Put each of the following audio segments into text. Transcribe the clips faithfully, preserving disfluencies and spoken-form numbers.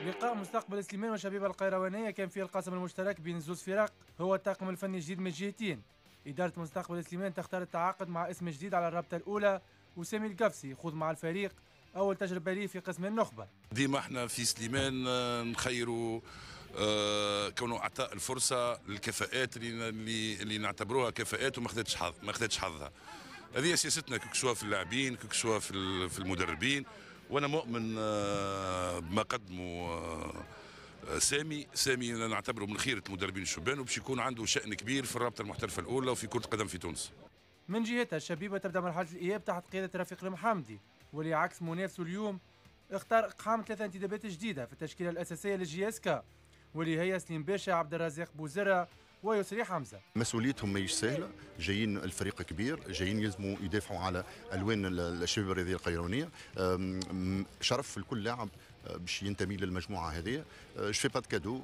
لقاء مستقبل سليمان وشبيبة القيروانية كان فيه القاسم المشترك بين زوز فرق هو الطاقم الفني الجديد من الجهتين. إدارة مستقبل سليمان تختار التعاقد مع اسم جديد على الرابطة الأولى، وسامي القفصي يخوض مع الفريق أول تجربة ليه في قسم النخبة. ديما احنا في سليمان نخيروا آه كونه اعطاء الفرصة للكفاءات اللي اللي, اللي نعتبروها كفاءات وما خذتش حظ ما خذتش حظها. هذه سياستنا que ce soit في اللاعبين que ce soit في في المدربين، وانا مؤمن آه بما قدموا آه سامي. سامي نعتبره من خيرة المدربين الشبان وباش يكون عنده شأن كبير في الرابطة المحترفة الأولى وفي كرة القدم في تونس. من جهتها الشبيبة تبدأ مرحلة الإياب تحت قيادة رفيق المحمدي، واللي عكس منافسه اليوم اختار إقحام ثلاثة انتدابات جديدة في التشكيلة الأساسية لل JSK، واللي هي سليم باشا، عبد الرزاق بوزرة، ويسري حمزة. مسؤوليتهم ماهيش سهلة، جايين الفريق كبير، جايين يلزموا يدافعوا على الوان الشباب الرياضية القيروانيه. شرف لكل لاعب باش ينتمي للمجموعة هذه. je fais pas de cadeaux.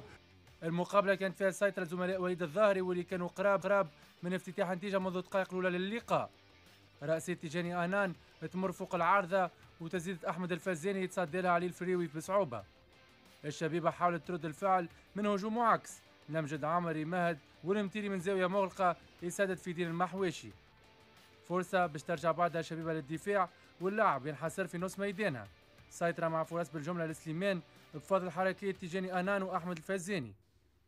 المقابلة كانت فيها سيطرة زملاء وليد الظاهري واللي كانوا قراب قراب من افتتاح نتيجة منذ الدقائق الاولى للقاء. رأسية تيجاني انان تمر فوق العارضة وتزيد احمد الفزاني يتصدى لها علي الفريوي بصعوبة. الشبيبة حاولت ترد الفعل من هجوم معاكس، لمجد عمري مهد والمتيري من زاوية مغلقة يسدد في دين المحواشي. فرصة باش ترجع بعدها الشبيبة للدفاع واللاعب ينحصر في نص ميدانها. سيطرة مع فرص بالجملة لسليمان بفضل حركية تيجاني أنان وأحمد الفزاني.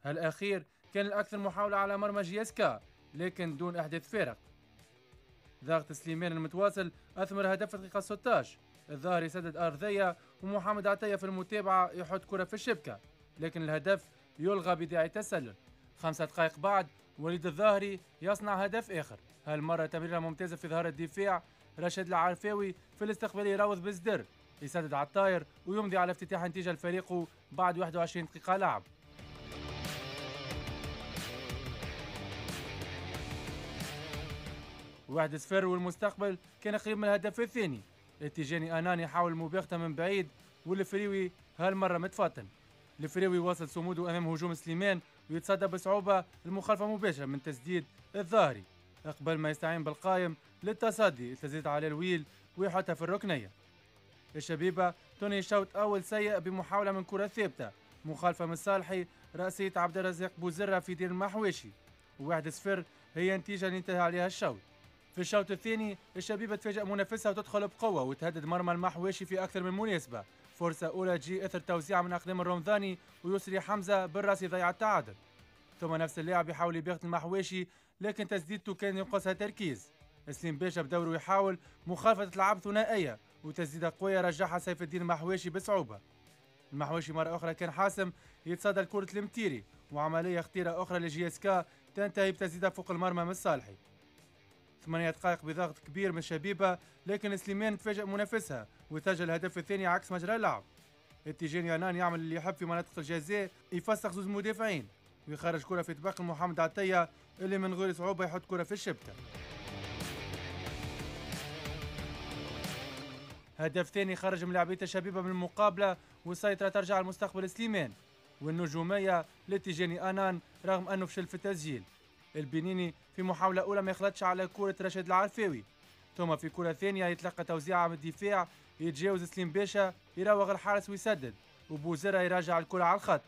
هالأخير كان الأكثر محاولة على مرمى JSK لكن دون إحداث فارق. ضغط سليمان المتواصل أثمر هدف في الدقيقة ستة عشر، الظاهر يسدد أرضية ومحمد عطية في المتابعة يحط كرة في الشبكة، لكن الهدف يلغى بداعي تسلل. خمسة دقائق بعد وليد الظاهري يصنع هدف آخر، هالمرة تمريرة ممتازة في ظهر الدفاع، رشاد العرفاوي في الاستقبال يراوض بالصدر، يسدد على الطاير ويمضي على افتتاح نتيجة لفريقه بعد واحد وعشرين دقيقة لعب. واحد صفر والمستقبل كان قريب من الهدف الثاني. التيجاني أناني حاول المباغتة من بعيد والفريوي هالمرة متفطن. الفريوي واصل صموده أمام هجوم سليمان ويتصدى بصعوبة المخالفة مباشرة من تسديد الظاهري قبل ما يستعين بالقائم للتصدي التزيد على الويل ويحطها في الركنية. الشبيبة تنهي شوط أول سيء بمحاولة من كرة ثابتة، مخالفة من صالحي، رأسية عبد الرزاق بوزرة في دير المحواشي. واحد صفر هي نتيجة اللي انتهى عليها الشوط. في الشوط الثاني الشبيبة تفاجأ منافسها وتدخل بقوة وتهدد مرمى المحواشي في أكثر من مناسبة. فرصة أولى تجي إثر توزيع من أقدام الرمضاني ويسري حمزة بالراس يضيع التعادل. ثم نفس اللاعب يحاول يباغت المحواشي لكن تسديدته كان ينقصها تركيز. سليم باشا بدوره يحاول مخالفة العاب ثنائية وتسديدة قوية رجعها سيف الدين المحواشي بصعوبة. المحواشي مرة أخرى كان حاسم يتصدى لكرة المتيري وعملية خطيرة أخرى ل JSK تنتهي بتسديدة فوق المرمى من الصالحي. ثمانية دقائق بضغط كبير من الشبيبة لكن سليمان تفاجأ منافسها وسجل الهدف الثاني عكس مجرى اللعب. التيجاني أنان يعمل اللي يحب في مناطق الجزاء، يفسخ زوز مدافعين ويخرج كرة في طبق محمد عطية اللي من غير صعوبة يحط كرة في الشبكة. هدف ثاني خرج من لاعبية الشبيبة من المقابلة والسيطرة ترجع لمستقبل سليمان والنجومية للتيجاني أنان رغم أنه فشل في التسجيل. البنيني في محاولة أولى ما يخلطش على كرة رشاد العرفاوي، ثم في كرة ثانية يتلقى توزيعة من الدفاع، يتجاوز سليم باشا يراوغ الحارس ويسدد وبوزرة يراجع الكرة على الخط.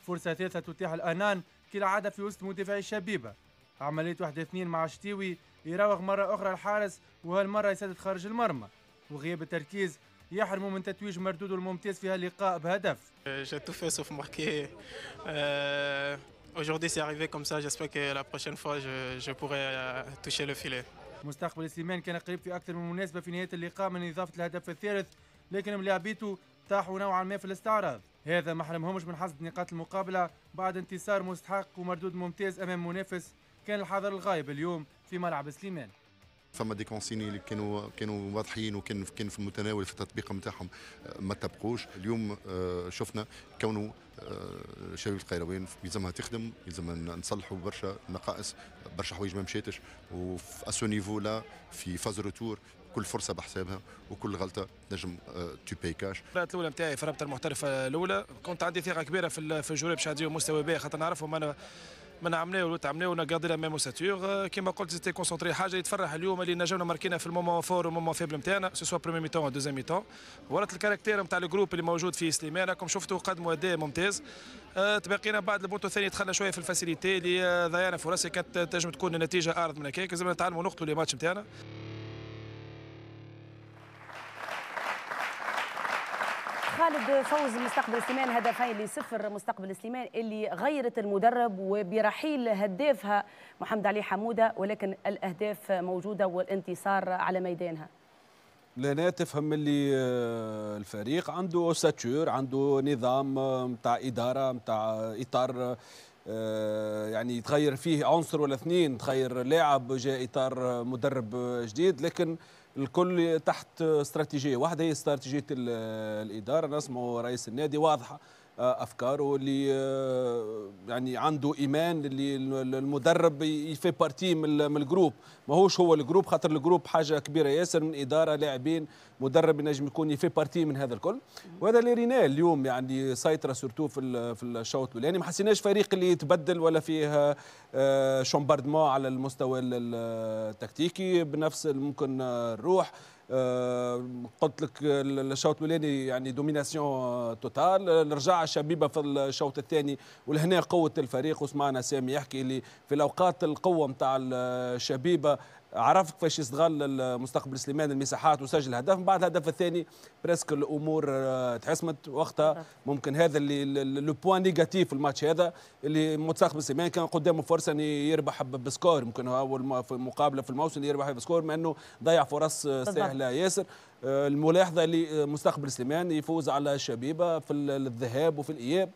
فرصة ثالثة تتيح الأنان كالعادة في وسط مدافعي الشبيبة. عملية واحد اثنين مع شتيوي يراوغ مرة أخرى الحارس وهالمرة يسدد خارج المرمى، وغياب التركيز يحرمه من تتويج مردودة الممتاز في هاللقاء بهدف. J'ai tout fait sauf marquer. Euh, aujourd'hui c'est arrivé comme ça, j'espère que la prochaine fois je, je pourrai toucher le filet. مستقبل سليمان كان قريب في أكثر من مناسبة في نهاية اللقاء من إضافة الهدف الثالث، لكن ملاعبيته طاحوا نوعا ما في الاستعراض. هذا ما حرمهمش من حصد نقاط المقابلة بعد انتصار مستحق ومردود ممتاز أمام منافس كان الحاضر الغايب اليوم في ملعب سليمان. فما des consignes اللي كانوا كانوا واضحين وكان كان في المتناول في التطبيق نتاعهم ما طبقوش. اليوم شفنا كونه شبيبة القيروان يلزمها تخدم، يلزمها نصلحوا برشا نقائص، برشا حوايج ما مشاتش، وفي à ce niveau-là في phase retour كل فرصة بحسابها وكل غلطه تنجم tu payes cash. المباراة الاولى نتاعي في الرابطة المحترفه الاولى كنت عندي ثقة كبيرة في في ال joueurs باش يعديو مستوى باهي، خاطر نعرفهم انا من عملناه وتعملناه on a gardé la même ossature كيما قلت c'était concentré. حاجة يتفرح اليوم اللي نجمنا ماركينا في ال moment fort وال moment faible نتاعنا، soit première mi-temps deuxième mi-temps. ورات ال caractère نتاع ال groupe اللي موجود في سليمان، راكم شفتوا قدموا اداء ممتاز. أه تبقينا بعد البونتو الثاني دخلنا شوية في ال facilité اللي ضيعنا فرص كانت تنجم تكون النتيجة اعرض من هكاك. لازم نتعلموا نقتلوا les matchs نتاعنا. خالد، فوز مستقبل سليمان هدفين لصفر. مستقبل سليمان اللي غيرت المدرب وبرحيل هدافها محمد علي حموده، ولكن الاهداف موجودة والانتصار على ميدانها. لهنا تفهم اللي الفريق عنده ossature، عنده نظام نتاع ادارة نتاع اطار، يعني يتغير فيه عنصر ولا اثنين، تغير لاعب جاء اطار مدرب جديد، لكن الكل تحت استراتيجية واحدة هي استراتيجية الادارة. نسمعوا رئيس النادي واضحة افكاره اللي يعني عنده ايمان اللي المدرب il fait partie من ال groupe، ماهوش هو ال groupe، خاطر ال groupe حاجة كبيرة ياسر من ادارة لاعبين مدرب ينجم يكون il fait partie من هذا الكل. وهذا اللي ريناه اليوم، يعني سيطرة surtout في في الشوط الاولاني، ما حسيناش فريق اللي يتبدل ولا فيه chambardement على المستوى التكتيكي بنفس ممكن الروح. أه قلت لك الشوط الاولاني يعني domination totale، رجع الشبيبة في الشوط الثاني ولهنا قوة الفريق. وسمعنا سامي يحكي اللي في الاوقات القوة نتاع الشبيبة عرف كيفاش يستغل المستقبل سليمان المساحات وسجل هدف. من بعد الهدف الثاني presque الامور تحسمت وقتها. ممكن هذا اللي le point négatif في الماتش هذا، اللي مستقبل سليمان كان قدامه فرصة ان يربح ب score، ممكن اول مقابله في الموسم يربح ب score، مع انه ضيع فرص سهلة ياسر. الملاحظة اللي مستقبل سليمان يفوز على الشبيبة في الذهاب وفي الاياب،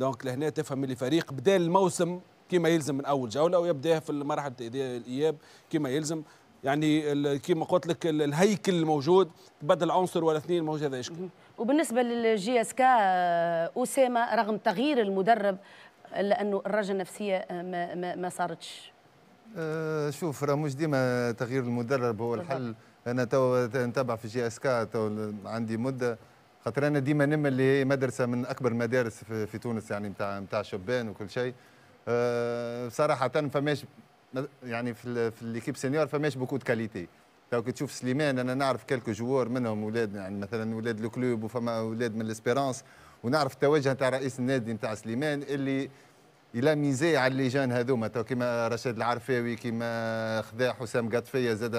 donc لهنا تفهم اللي فريق بدا الموسم كما يلزم من اول جولة ويبدا في مرحلة الاياب كما يلزم. يعني كما قلت لك الهيكل الموجود تبدل عنصر ولا اثنين موجود هذا يشكل. وبالنسبة لل JSK اسامة، رغم تغيير المدرب الا انه الرجه النفسية ما, ما, ما صارتش. أه شوف، راه مش ديما تغيير المدرب هو الحل. انا تو نتابع في JSK تو عندي مده، خاطر انا ديما نمل اللي هي مدرسه من اكبر المدارس في, في تونس، يعني نتاع نتاع شبان وكل شيء. أه صراحة فماش يعني في في l'équipe senior فماش beaucoup de qualité. تو كي تشوف سليمان انا نعرف quelques joueurs منهم اولاد، يعني مثلا اولاد ال club وفما اولاد من l'Espérance، ونعرف التوجه نتاع رئيس النادي نتاع سليمان اللي il a misé على les jeunes هذوما، تو كيما رشاد العرفاوي، كيما خذا حسام قطفيه زاد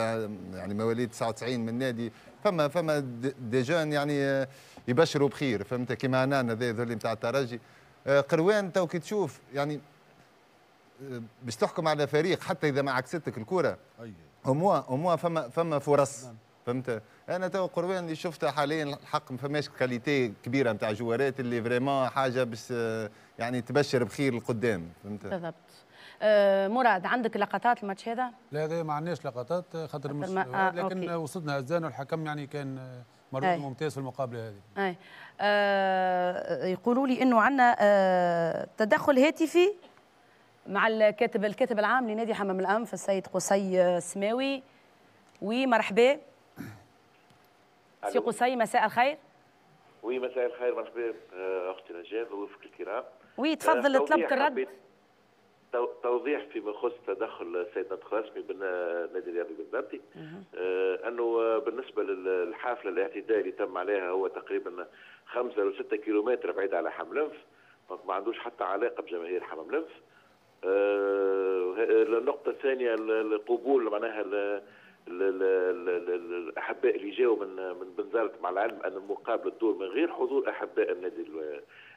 يعني مواليد تسعة وتسعين من النادي. فما فما des jeunes يعني يبشروا بخير، فهمت؟ كيما عنان هذا ذولي نتاع الترجي. قروان تو كي تشوف يعني باش تحكم على فريق حتى اذا ما عكستك الكره au moins au moins فما فما فرص، فهمت؟ انا تو قروان اللي شفتها حاليا الحق ما فماش qualité كبيرة نتاع جوارات اللي vraiment حاجة باش يعني تبشر بخير القدام، فهمت؟ بالضبط. أه مراد، عندك لقطات الماتش هذا؟ لا هذا ما عندناش لقطات خاطر مش آه لكن okay. وصلنا هزان والحكم يعني كان مردود ممتاز في المقابلة هذه. اي آه يقولوا لي انه عندنا آه تدخل هاتفي مع الكاتب الكاتب العام لنادي حمام الأنف السيد قصي السماوي. oui مرحبا سي قصي، مساء الخير. oui مساء الخير، مرحبا اختي نجاة ضيوفك الكرام. oui تفضل، طلبت الرد. توضيح فيما يخص تدخل السيد ناطق رسمي بالنادي الرياضي البنزرتي، آه انه بالنسبة للحافله الاعتداء اللي تم عليها هو تقريبا خمسة أو ستة كيلومتر بعيد على حمام الأنف، ما عندوش حتى علاقة بجماهير حمام الأنف. آه النقطة الثانية القبول معناها الأحباء اللي جاوا من من بنزرت، مع العلم أن المقابلة تدور من غير حضور أحباء النادي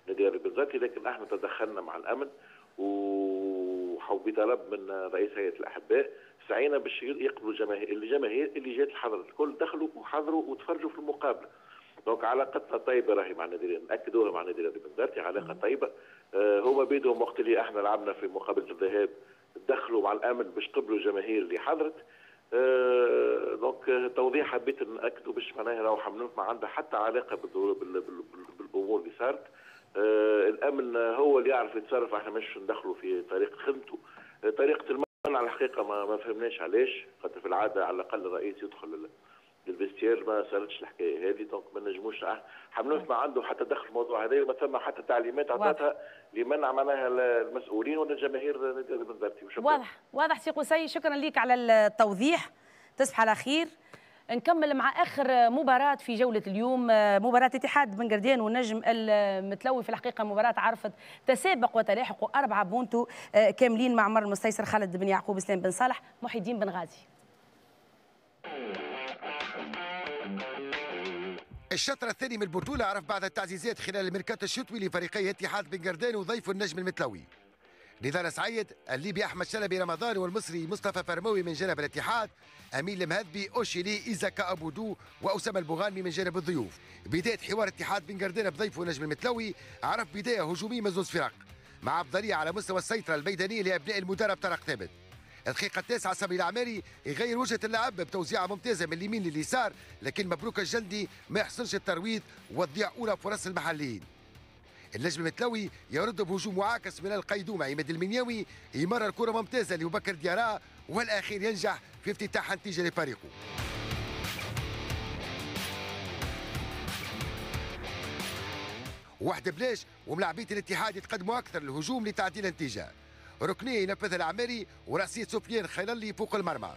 النادي البنزرتي، لكن احنا تدخلنا مع الأمن وبطلب من رئيس هيئة الأحباء سعينا باش يقبلوا الجماهير الجماهير اللي جات حضرت الكل دخلوا وحضروا وتفرجوا في المقابلة. donc علاقتنا طيبة راهي مع النادي، ناكدوها مع النادي الرياضي البنزرتي علاقة طيبة. آه هما بيدهم وقت اللي احنا لعبنا في مقابله الذهاب دخلوا مع الامن باش قبلوا الجماهير اللي حضرت. آه donc توضيح حبيت ناكدوا باش معناها راهو حمام ما عندها حتى علاقة بالامور اللي صارت. آه الامن هو اللي يعرف يتصرف، احنا مش ندخلوا في طريقه خدمته. آه طريقه المنع الحقيقة ما, ما فهمناش علاش، خاطر في العادة على الاقل الرئيس يدخل لل vestiaire ما صارتش الحكاية هذه، donc ما نجموش حمام ما عنده حتى دخل في الموضوع هذا، وما ثم حتى تعليمات عطاتها لمنع معناها المسؤولين ولا الجماهير نادي البنزرتي. واضح واضح سي قصي، شكرا لك على التوضيح، تصبح على خير. نكمل مع اخر مباراة في جولة اليوم، مباراة اتحاد بن قردان والنجم المتلوي. في الحقيقة مباراة عرفت تسابق وتلاحق اربعة بونتو كاملين مع عمر المستيسر، خالد بن يعقوب، اسلام بن صالح، محي الدين بن غازي. الشطر الثاني من البطولة عرف بعض التعزيزات خلال الميركاتو الشتوي لفريقي اتحاد بن قردان وضيف النجم المتلوي. نضال سعيد، الليبي احمد شلبي رمضان، والمصري مصطفى فرموي من جانب الاتحاد، امين المهذبي، اوشيلي، ايزاكا ابودو، واسامة البوغانمي من جانب الضيوف. بداية حوار اتحاد بن قردان بضيفه نجم المتلوي عرف بداية هجومية من زوج فرق، مع افضلية على مستوى السيطرة الميدانية لابناء المدرب طارق ثابت. الدقيقة التاسعة صبري العماري يغير وجهة اللعب بتوزيعة ممتازة من اليمين لليسار، لكن مبروك الجندي ما يحصلش الترويض وتضيع أولى فرص المحليين. النجم المتلوي يرد بهجوم معاكس من القيدوم، عماد المنياوي يمرر كرة ممتازة لبكر ديارا، والأخير ينجح في افتتاح نتيجة لفريقه. واحد بلاش وملاعبية الاتحاد يتقدموا أكثر للهجوم لتعديل النتيجة. ركنية ينفذها العماري ورأسية سفيان خيللي فوق المرمى.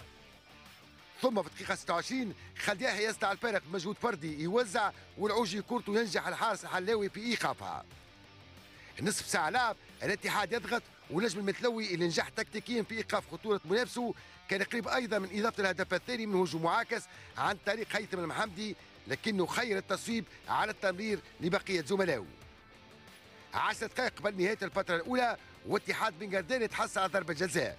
ثم في الدقيقة ستة وعشرين خالد يحيى يصنع الفارق بمجهود فردي، يوزع والعوجي كورته ينجح الحارس الحلاوي في إيقافها. نصف ساعة لعب الاتحاد يضغط، ونجم المتلوي اللي نجح تكتيكيا في إيقاف خطورة منافسه كان قريب أيضا من إضافة الهدف الثاني من هجوم معاكس عن طريق هيثم المحمدي، لكنه خير التصويب على التمرير لبقية زملائه. عشر دقائق قبل نهاية الفترة الأولى واتحاد بن قردان يتحصل على ضربة جزاء.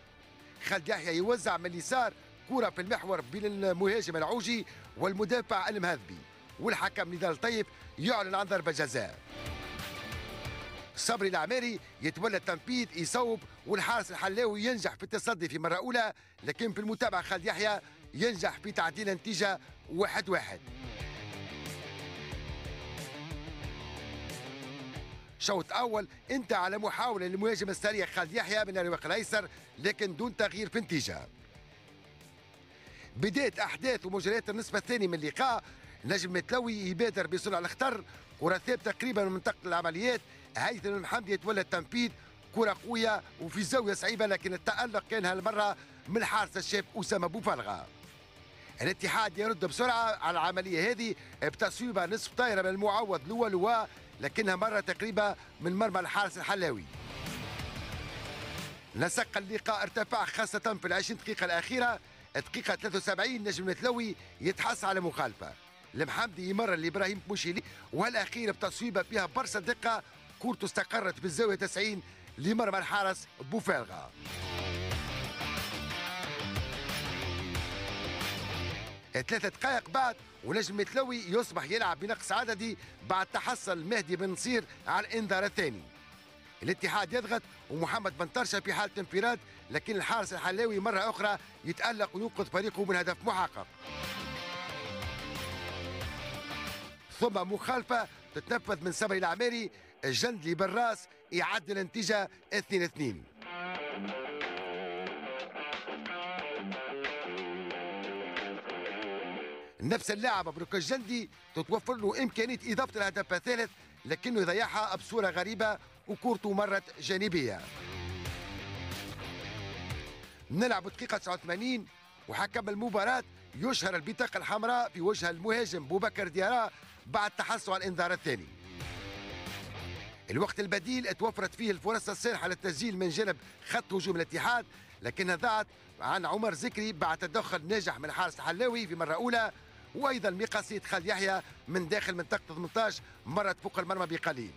خالد يحيى يوزع من اليسار كرة في المحور بين المهاجم العوجي والمدافع المهذبي، والحكم نضال طيب يعلن عن ضربة جزاء. صبري العماري يتولى التنفيذ، يصوب، والحارس الحلاوي ينجح في التصدي في مرة أولى، لكن في المتابعة خالد يحيى ينجح في تعديل النتيجة واحد واحد. شوط أول انتهى على محاولة للمهاجم السريع خالد يحيى من الرواق الأيسر، لكن دون تغيير في النتيجة. بداية أحداث ومجريات النصف الثاني من اللقاء، نجم متلوي يبادر بصنع الخطر، كرة ثابتة تقريبا من منطقة العمليات، هيثم المحمدي يتولى التنفيذ، كرة قوية وفي زاوية صعيبة، لكن التألق كان هالمرة من الحارس الشاب أسامة بوفلغة. الاتحاد يرد بسرعة على العملية هذه بتصويبة نصف طايرة من المعوض لوا لوا، لكنها مرة تقريبا من مرمى الحارس الحلاوي. نسق اللقاء ارتفع خاصة في العشرين دقيقة الأخيرة. دقيقة ثلاثة وسبعين نجم المتلوي يتحصل على مخالفة، المحمدي يمرر لإبراهيم موشيلي، والأخير بتصويبة فيها برشا دقة، كورته استقرت بالزاوية تسعين لمرمى الحارس بوفالغة. ثلاثة دقائق بعد ونجم المتلوي يصبح يلعب بنقص عددي بعد تحصل مهدي بن نصير على الانذار الثاني. الاتحاد يضغط ومحمد بن طرشه في حالة انفراد، لكن الحارس الحلاوي مرة أخرى يتألق وينقذ فريقه من هدف محقق. ثم مخالفة تتنفذ من صبري العماري، الجندلي بالراس يعدل النتيجة اثنين اثنين. نفس اللاعب مبروك الجندي تتوفر له إمكانية إضافة الهدف الثالث، لكنه يضيعها بصورة غريبة وكورته مرت جانبية. نلعب دقيقة تسعة وثمانين وحكم المباراة يشهر البطاقة الحمراء في وجه المهاجم بوبكر ديارا بعد تحصل على الإنذار الثاني. الوقت البديل توفرت فيه الفرص السانحة للتسجيل من جانب خط هجوم الاتحاد، لكنها ضاعت عن عمر زكري بعد تدخل ناجح من الحارس الحلاوي في مرة أولى، وأيضا مقاصية خالد يحيى من داخل منطقة ثمانية عشر مرت فوق المرمى بقليل.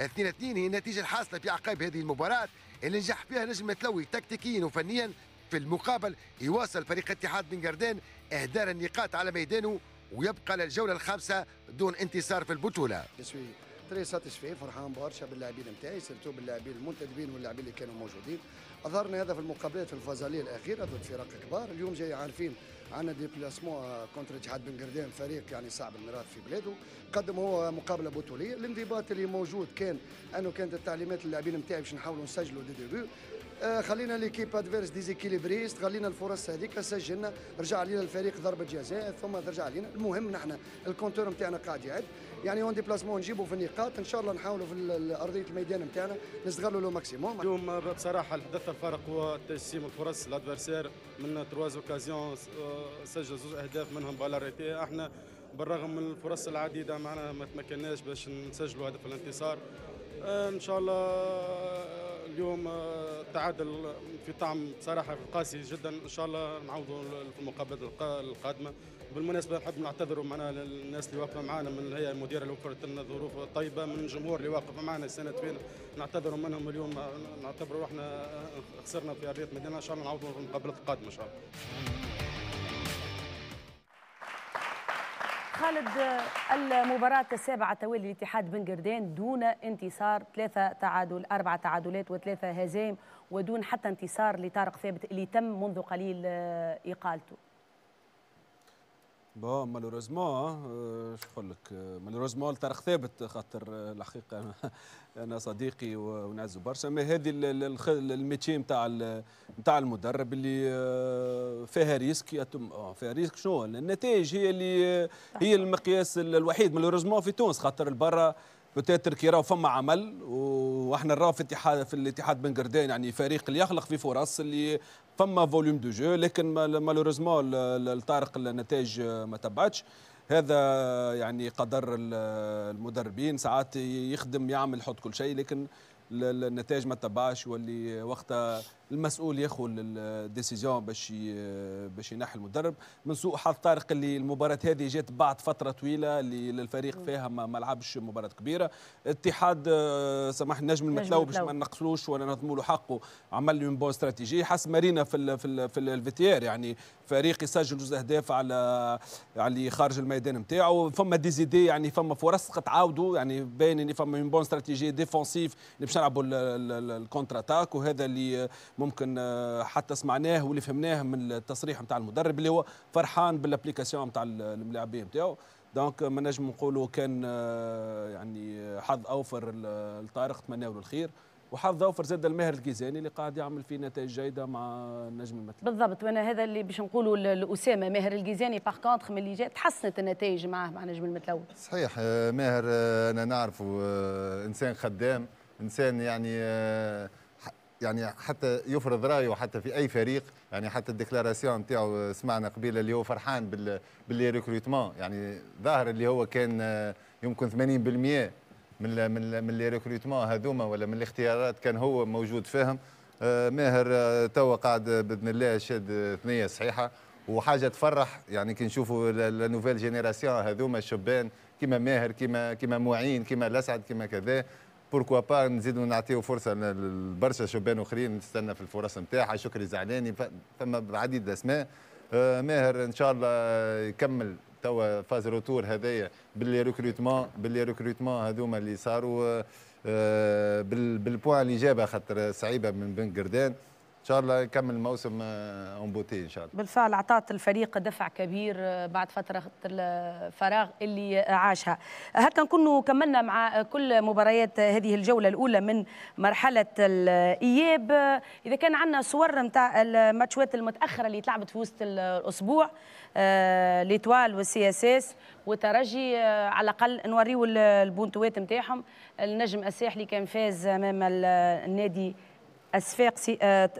اثنين اثنين هي النتيجة الحاصلة في أعقاب هذه المباراة اللي نجح فيها نجم متلوي تكتيكيا وفنيا. في المقابل يواصل فريق اتحاد بن قردان إهدار النقاط على ميدانه ويبقى للجولة الخامسة دون انتصار في البطولة. très satisfait، فرحان برشا باللاعبين نتاعي، surtout باللاعبين المنتدبين واللاعبين اللي كانوا موجودين. اظهرنا هذا في المقابلات في ال phase aller الاخيرة ضد فرق كبار. اليوم جاي عارفين عندنا déplacement contre اتحاد بن قردان، فريق يعني صعب المراس في بلاده. قدم هو مقابله بطوليه. الانضباط اللي موجود كان انه كانت التعليمات للاعبين نتاعي باش نحاولوا نسجلوا des, des buts. خلينا l'équipe adverse déséquilibrée، استغلينا الفرص هذيك، سجلنا، رجع علينا الفريق ضربه جزاء ثم ترجع علينا. المهم نحن ال compteur نتاعنا قاعد يعد، يعني en déplacement نجيبوا في النقاط، ان شاء الله نحاولوا في ارضية الميدان نتاعنا نستغلوا le maximum. اليوم بصراحة الحدث الفارق هو تجسيم الفرص، l'adversaire من trois occasions سجل زوج اهداف منهم balle arrêtée. احنا بالرغم من الفرص العديدة معنا ما تمكناش باش نسجلوا هدف الانتصار. ان شاء الله اليوم تعادل في طعم بصراحة قاسي جدا، ان شاء الله نعوضوا في المقابلات القادمة. بالمناسبة نحب نعتذروا معنا للناس اللي واقفة معنا من الهيئة المديرة اللي وفرت لنا ظروف طيبة، من الجمهور اللي واقف معنا السنة فينا، نعتذروا منهم اليوم، نعتبروا احنا خسرنا في ارضية المدينة، ان شاء الله نعوضوا في المقابلات القادمة ان شاء الله. خالد، المباراة السابعة توالي لاتحاد بن قردان دون انتصار، ثلاثة تعادل، أربعة تعادلات وثلاثة هزائم، ودون حتى انتصار لطارق ثابت اللي تم منذ قليل إقالته. bon malheureusement، شو نقول لك، malheureusement لطارق ثابت، خاطر الحقيقة انا صديقي ونعزو برشا، mais هذه ال métier نتاع نتاع المدرب اللي فيها risque، فيها risque. شنو النتائج هي اللي هي المقياس الوحيد malheureusement في تونس، خاطر البرا peut-être كي راهو فما عمل، واحنا نراو في الاتحاد في الاتحاد بن قردان يعني فريق اللي يخلق في فرص، اللي فما volume de jeu، لكن malheureusement لطارق النتائج ما تبعتش. هذا يعني قدر المدربين، ساعات يخدم يعمل يحط كل شيء، لكن النتائج ما تبعش، واللي وقتها المسؤول ياخذ ال décision باش باش ينحي المدرب. من سوء حظ طارق اللي المباراة هذه جات بعد فترة طويلة اللي الفريق فيها ما, ما لعبش مباراة كبيرة. اتحاد سمح النجم المتلوي باش ما نقصلوش ولا نظموا له حقه، عمل une bonne stratégie حسب ما رينا في ال في ال في ال vestiaire، يعني فريق يسجل جوج اهداف على على خارج الميدان نتاعو، فما des idées، يعني فما فرص تعاودوا، يعني باين ان فما une bonne stratégie défensive اللي باش نلعبوا ال contre-attaque، وهذا اللي ممكن حتى سمعناه واللي فهمناه من التصريح نتاع المدرب اللي هو فرحان بال application نتاع الملاعبين نتاعو. donc ما نجم نقولوا كان يعني حظ اوفر لطارق، تمناو له الخير، وحظ اوفر زاد الماهر الجيزاني اللي قاعد يعمل في نتائج جيدة مع النجم المتلوي. بالضبط، وانا هذا اللي باش نقولوا لاسامة، ماهر الجيزاني par contre من اللي جات تحسنت النتائج معاه مع نجم المتلوي. صحيح، ماهر انا نعرفه انسان خدام، انسان يعني يعني حتى يفرض رايه حتى في اي فريق، يعني حتى ال déclaration نتاعو سمعنا قبيلة اللي هو فرحان بال ب les recrutements، يعني ظاهر اللي هو كان يمكن ثمانين بالمئة من من من les recrutements هذوما ولا من الاختيارات كان هو موجود فيهم. ماهر توا قاعد باذن الله شاد ثنيه صحيحه وحاجه تفرح، يعني كي نشوفوا la nouvelle génération هذوما الشبان كيما ماهر كيما كيما معين كيما الاسعد كيما كذا، pourquoi pas نزيدوا نعطيو فرصة لبرشا شبان اخرين نستنى في الفرص نتاعها. شكري زعلاني، فما عديد الاسماء. ماهر ان شاء الله يكمل توا phase retour هذايا ب les recrutements ب les recrutements هذوما اللي صاروا بال points اللي جابها، خاطر صعيبة من بن قردان. ان شاء الله يكمل الموسم en beauté ان شاء الله. بالفعل اعطت الفريق دفع كبير بعد فترة الفراغ اللي عاشها. هكا نكونوا كملنا مع كل مباريات هذه الجولة الاولى من مرحلة الاياب. اذا كان عندنا صور نتاع الماتشات المتاخرة اللي تلعبت في وسط الاسبوع، l'Étoile وال CSS والترجي، على الاقل نوريو البونتوات نتاعهم. النجم الساحلي كان فاز امام النادي الصفاقسي،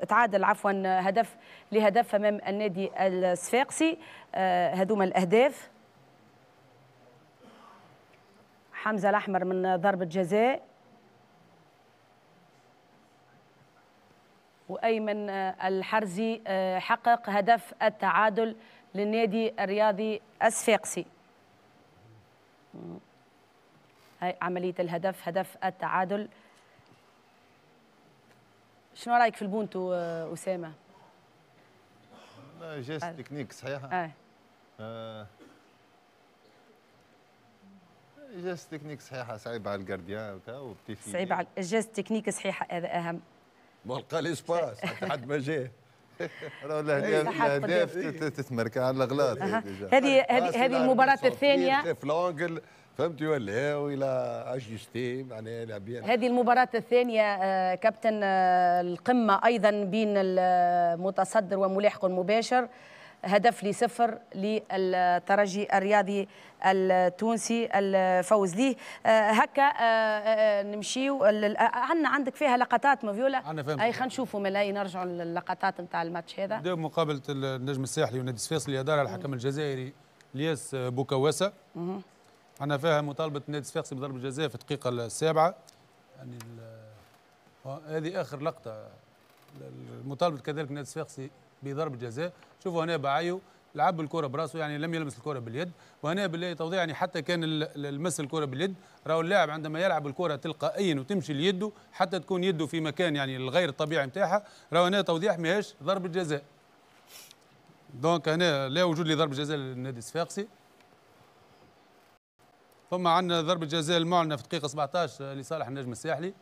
تعادل عفوا هدف لهدف امام النادي الصفاقسي. هذوما الاهداف. حمزة الاحمر من ضربه جزاء، وايمن الحرزي حقق هدف التعادل للنادي الرياضي الصفاقسي. هاي عملية الهدف، هدف التعادل. شنو رايك في البونتو اسامة؟ geste technique صحيحه. اه, آه. geste technique صحيحه، صعيبة على ال gardien وبتيفي، صعيبة على ال geste technique صحيحه، هذا اهم. ما لقى l'espace حتى حد ما جاه. الاهداف تتمركز على الاغلاط. هذه هذه هذه المباراة الثانية في l'angle فهمتي ولا والى ajusté معناها لاعبين. هذه المباراة الثانية كابتن، القمه ايضا بين المتصدر وملاحقه المباشر، هدف لصفر للترجي الرياضي التونسي الفوز ليه. هكا نمشيو عندنا عندك فيها لقطات مافيولا، اي خلينا نشوفوا ملاي نرجعوا للقطات نتاع الماتش هذا. نبداو بمقابله النجم الساحلي والنادي الصفاقسي اللي ادارها الحكم الجزائري الياس بوكواسه. عندنا فيها مطالبه النادي الصفاقسي بضربه جزاء في الدقيقة السابعة، يعني هذه اخر لقطة مطالبه كذلك النادي الصفاقسي بضربه جزاء. شوفوا هنا بعيو لعب الكره براسه، يعني لم يلمس الكره باليد، وهنا بالله توضيح يعني حتى كان المس الكره باليد، راهو اللاعب عندما يلعب الكره تلقائيا وتمشي ليده حتى تكون يده في مكان يعني الغير الطبيعي نتاعها، راهو هنا توضيح ماهيش ضربه جزاء. donc هنا لا وجود لضربه جزاء للنادي الصفاقسي. ثم عندنا ضربه جزاء المعلنة في الدقيقة سبعطاش لصالح النجم الساحلي.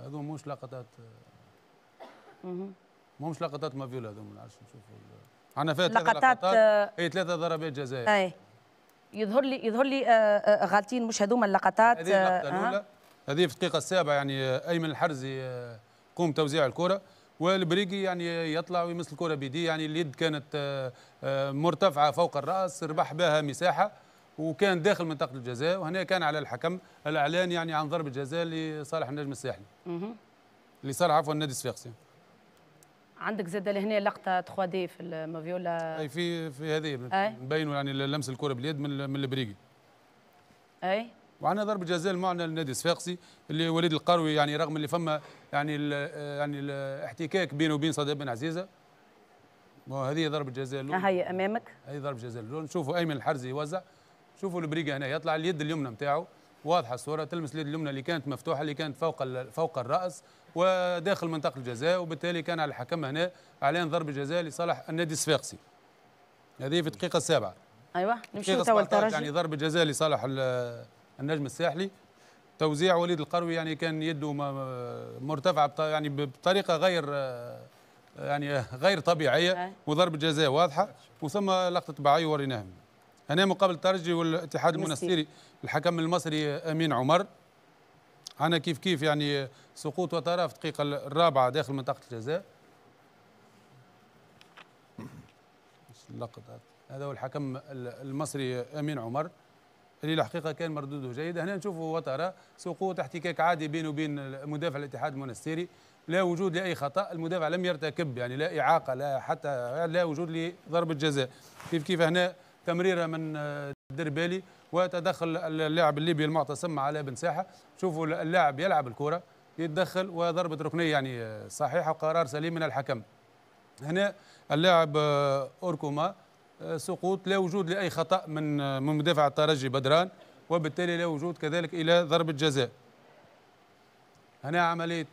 هذو مش لقطات، مش لقطات مافيولا هذو، ما نعرفش نشوفوا. عندنا فيها ثلاث لقطات، اي ثلاثة ضربات جزاء. اي يظهر لي يظهر لي غالطين، مش هذوما اللقطات. هذه اللقطة الاولى، هذه في الدقيقة السابعة، يعني ايمن الحرزي قوم توزيع الكره، والبريقي يعني يطلع ويمس الكره بيديه، يعني اليد كانت مرتفعة فوق الراس، ربح بها مساحة وكان داخل منطقة الجزاء، وهنا كان على الحكم الاعلان يعني عن ضربه جزاء لصالح النجم الساحلي. لصالح عفوا النادي الصفاقسي. عندك زاد لهنا لقطة ثلاثة دي في المافيولا. اي في في هذه نبينوا يعني لمس الكره باليد من من البريقي. اي وعندنا ضربه جزاء المعنى للنادي الصفاقسي اللي وليد القروي، يعني رغم اللي فما يعني ال يعني الاحتكاك بينه وبين صديق بن عزيزه، وهذه ضربه جزاء الاولى. هي امامك، هذه ضربه جزاء الاولى. نشوفوا ايمن الحرزي يوزع، شوفوا البريقه هنا يطلع اليد اليمنى نتاعو واضحة الصورة، تلمس اليد اليمنى اللي كانت مفتوحة اللي كانت فوق فوق الراس وداخل منطقة الجزاء، وبالتالي كان على الحكم هنا اعلان ضربه جزاء لصالح النادي الصفاقسي. هذه في الدقيقة السابعة. ايوه نمشيو توا للترجي، يعني ضربه جزاء لصالح النجم الساحلي. توزيع وليد القروي يعني كان يده مرتفعة يعني بطريقة غير يعني غير طبيعية، وضربه جزاء واضحة. وثم لقطة بعيو وريناها هنا مقابل الترجي والاتحاد المنستيري، الحكم المصري امين عمر. عندنا كيف كيف يعني سقوط وترى في الدقيقة الرابعة داخل منطقة الجزاء. اللقطة هذا هو الحكم المصري امين عمر اللي الحقيقة كان مردودة جيد. هنا نشوفوا وترى سقوط احتكاك عادي بينه وبين مدافع الاتحاد المنستيري، لا وجود لاي خطا، المدافع لم يرتكب يعني لا اعاقه لا حتى لا وجود لضربه جزاء. كيف كيف هنا تمريره من الدربالي وتدخل اللاعب الليبي المعتصم على بن ساحة. شوفوا اللاعب يلعب الكره يتدخل وضربه ركنيه يعني صحيحه وقرار سليم من الحكم. هنا اللاعب اوركوما سقوط، لا وجود لاي خطا من من مدافع الترجي بدران، وبالتالي لا وجود كذلك الى ضربه جزاء. هنا عملية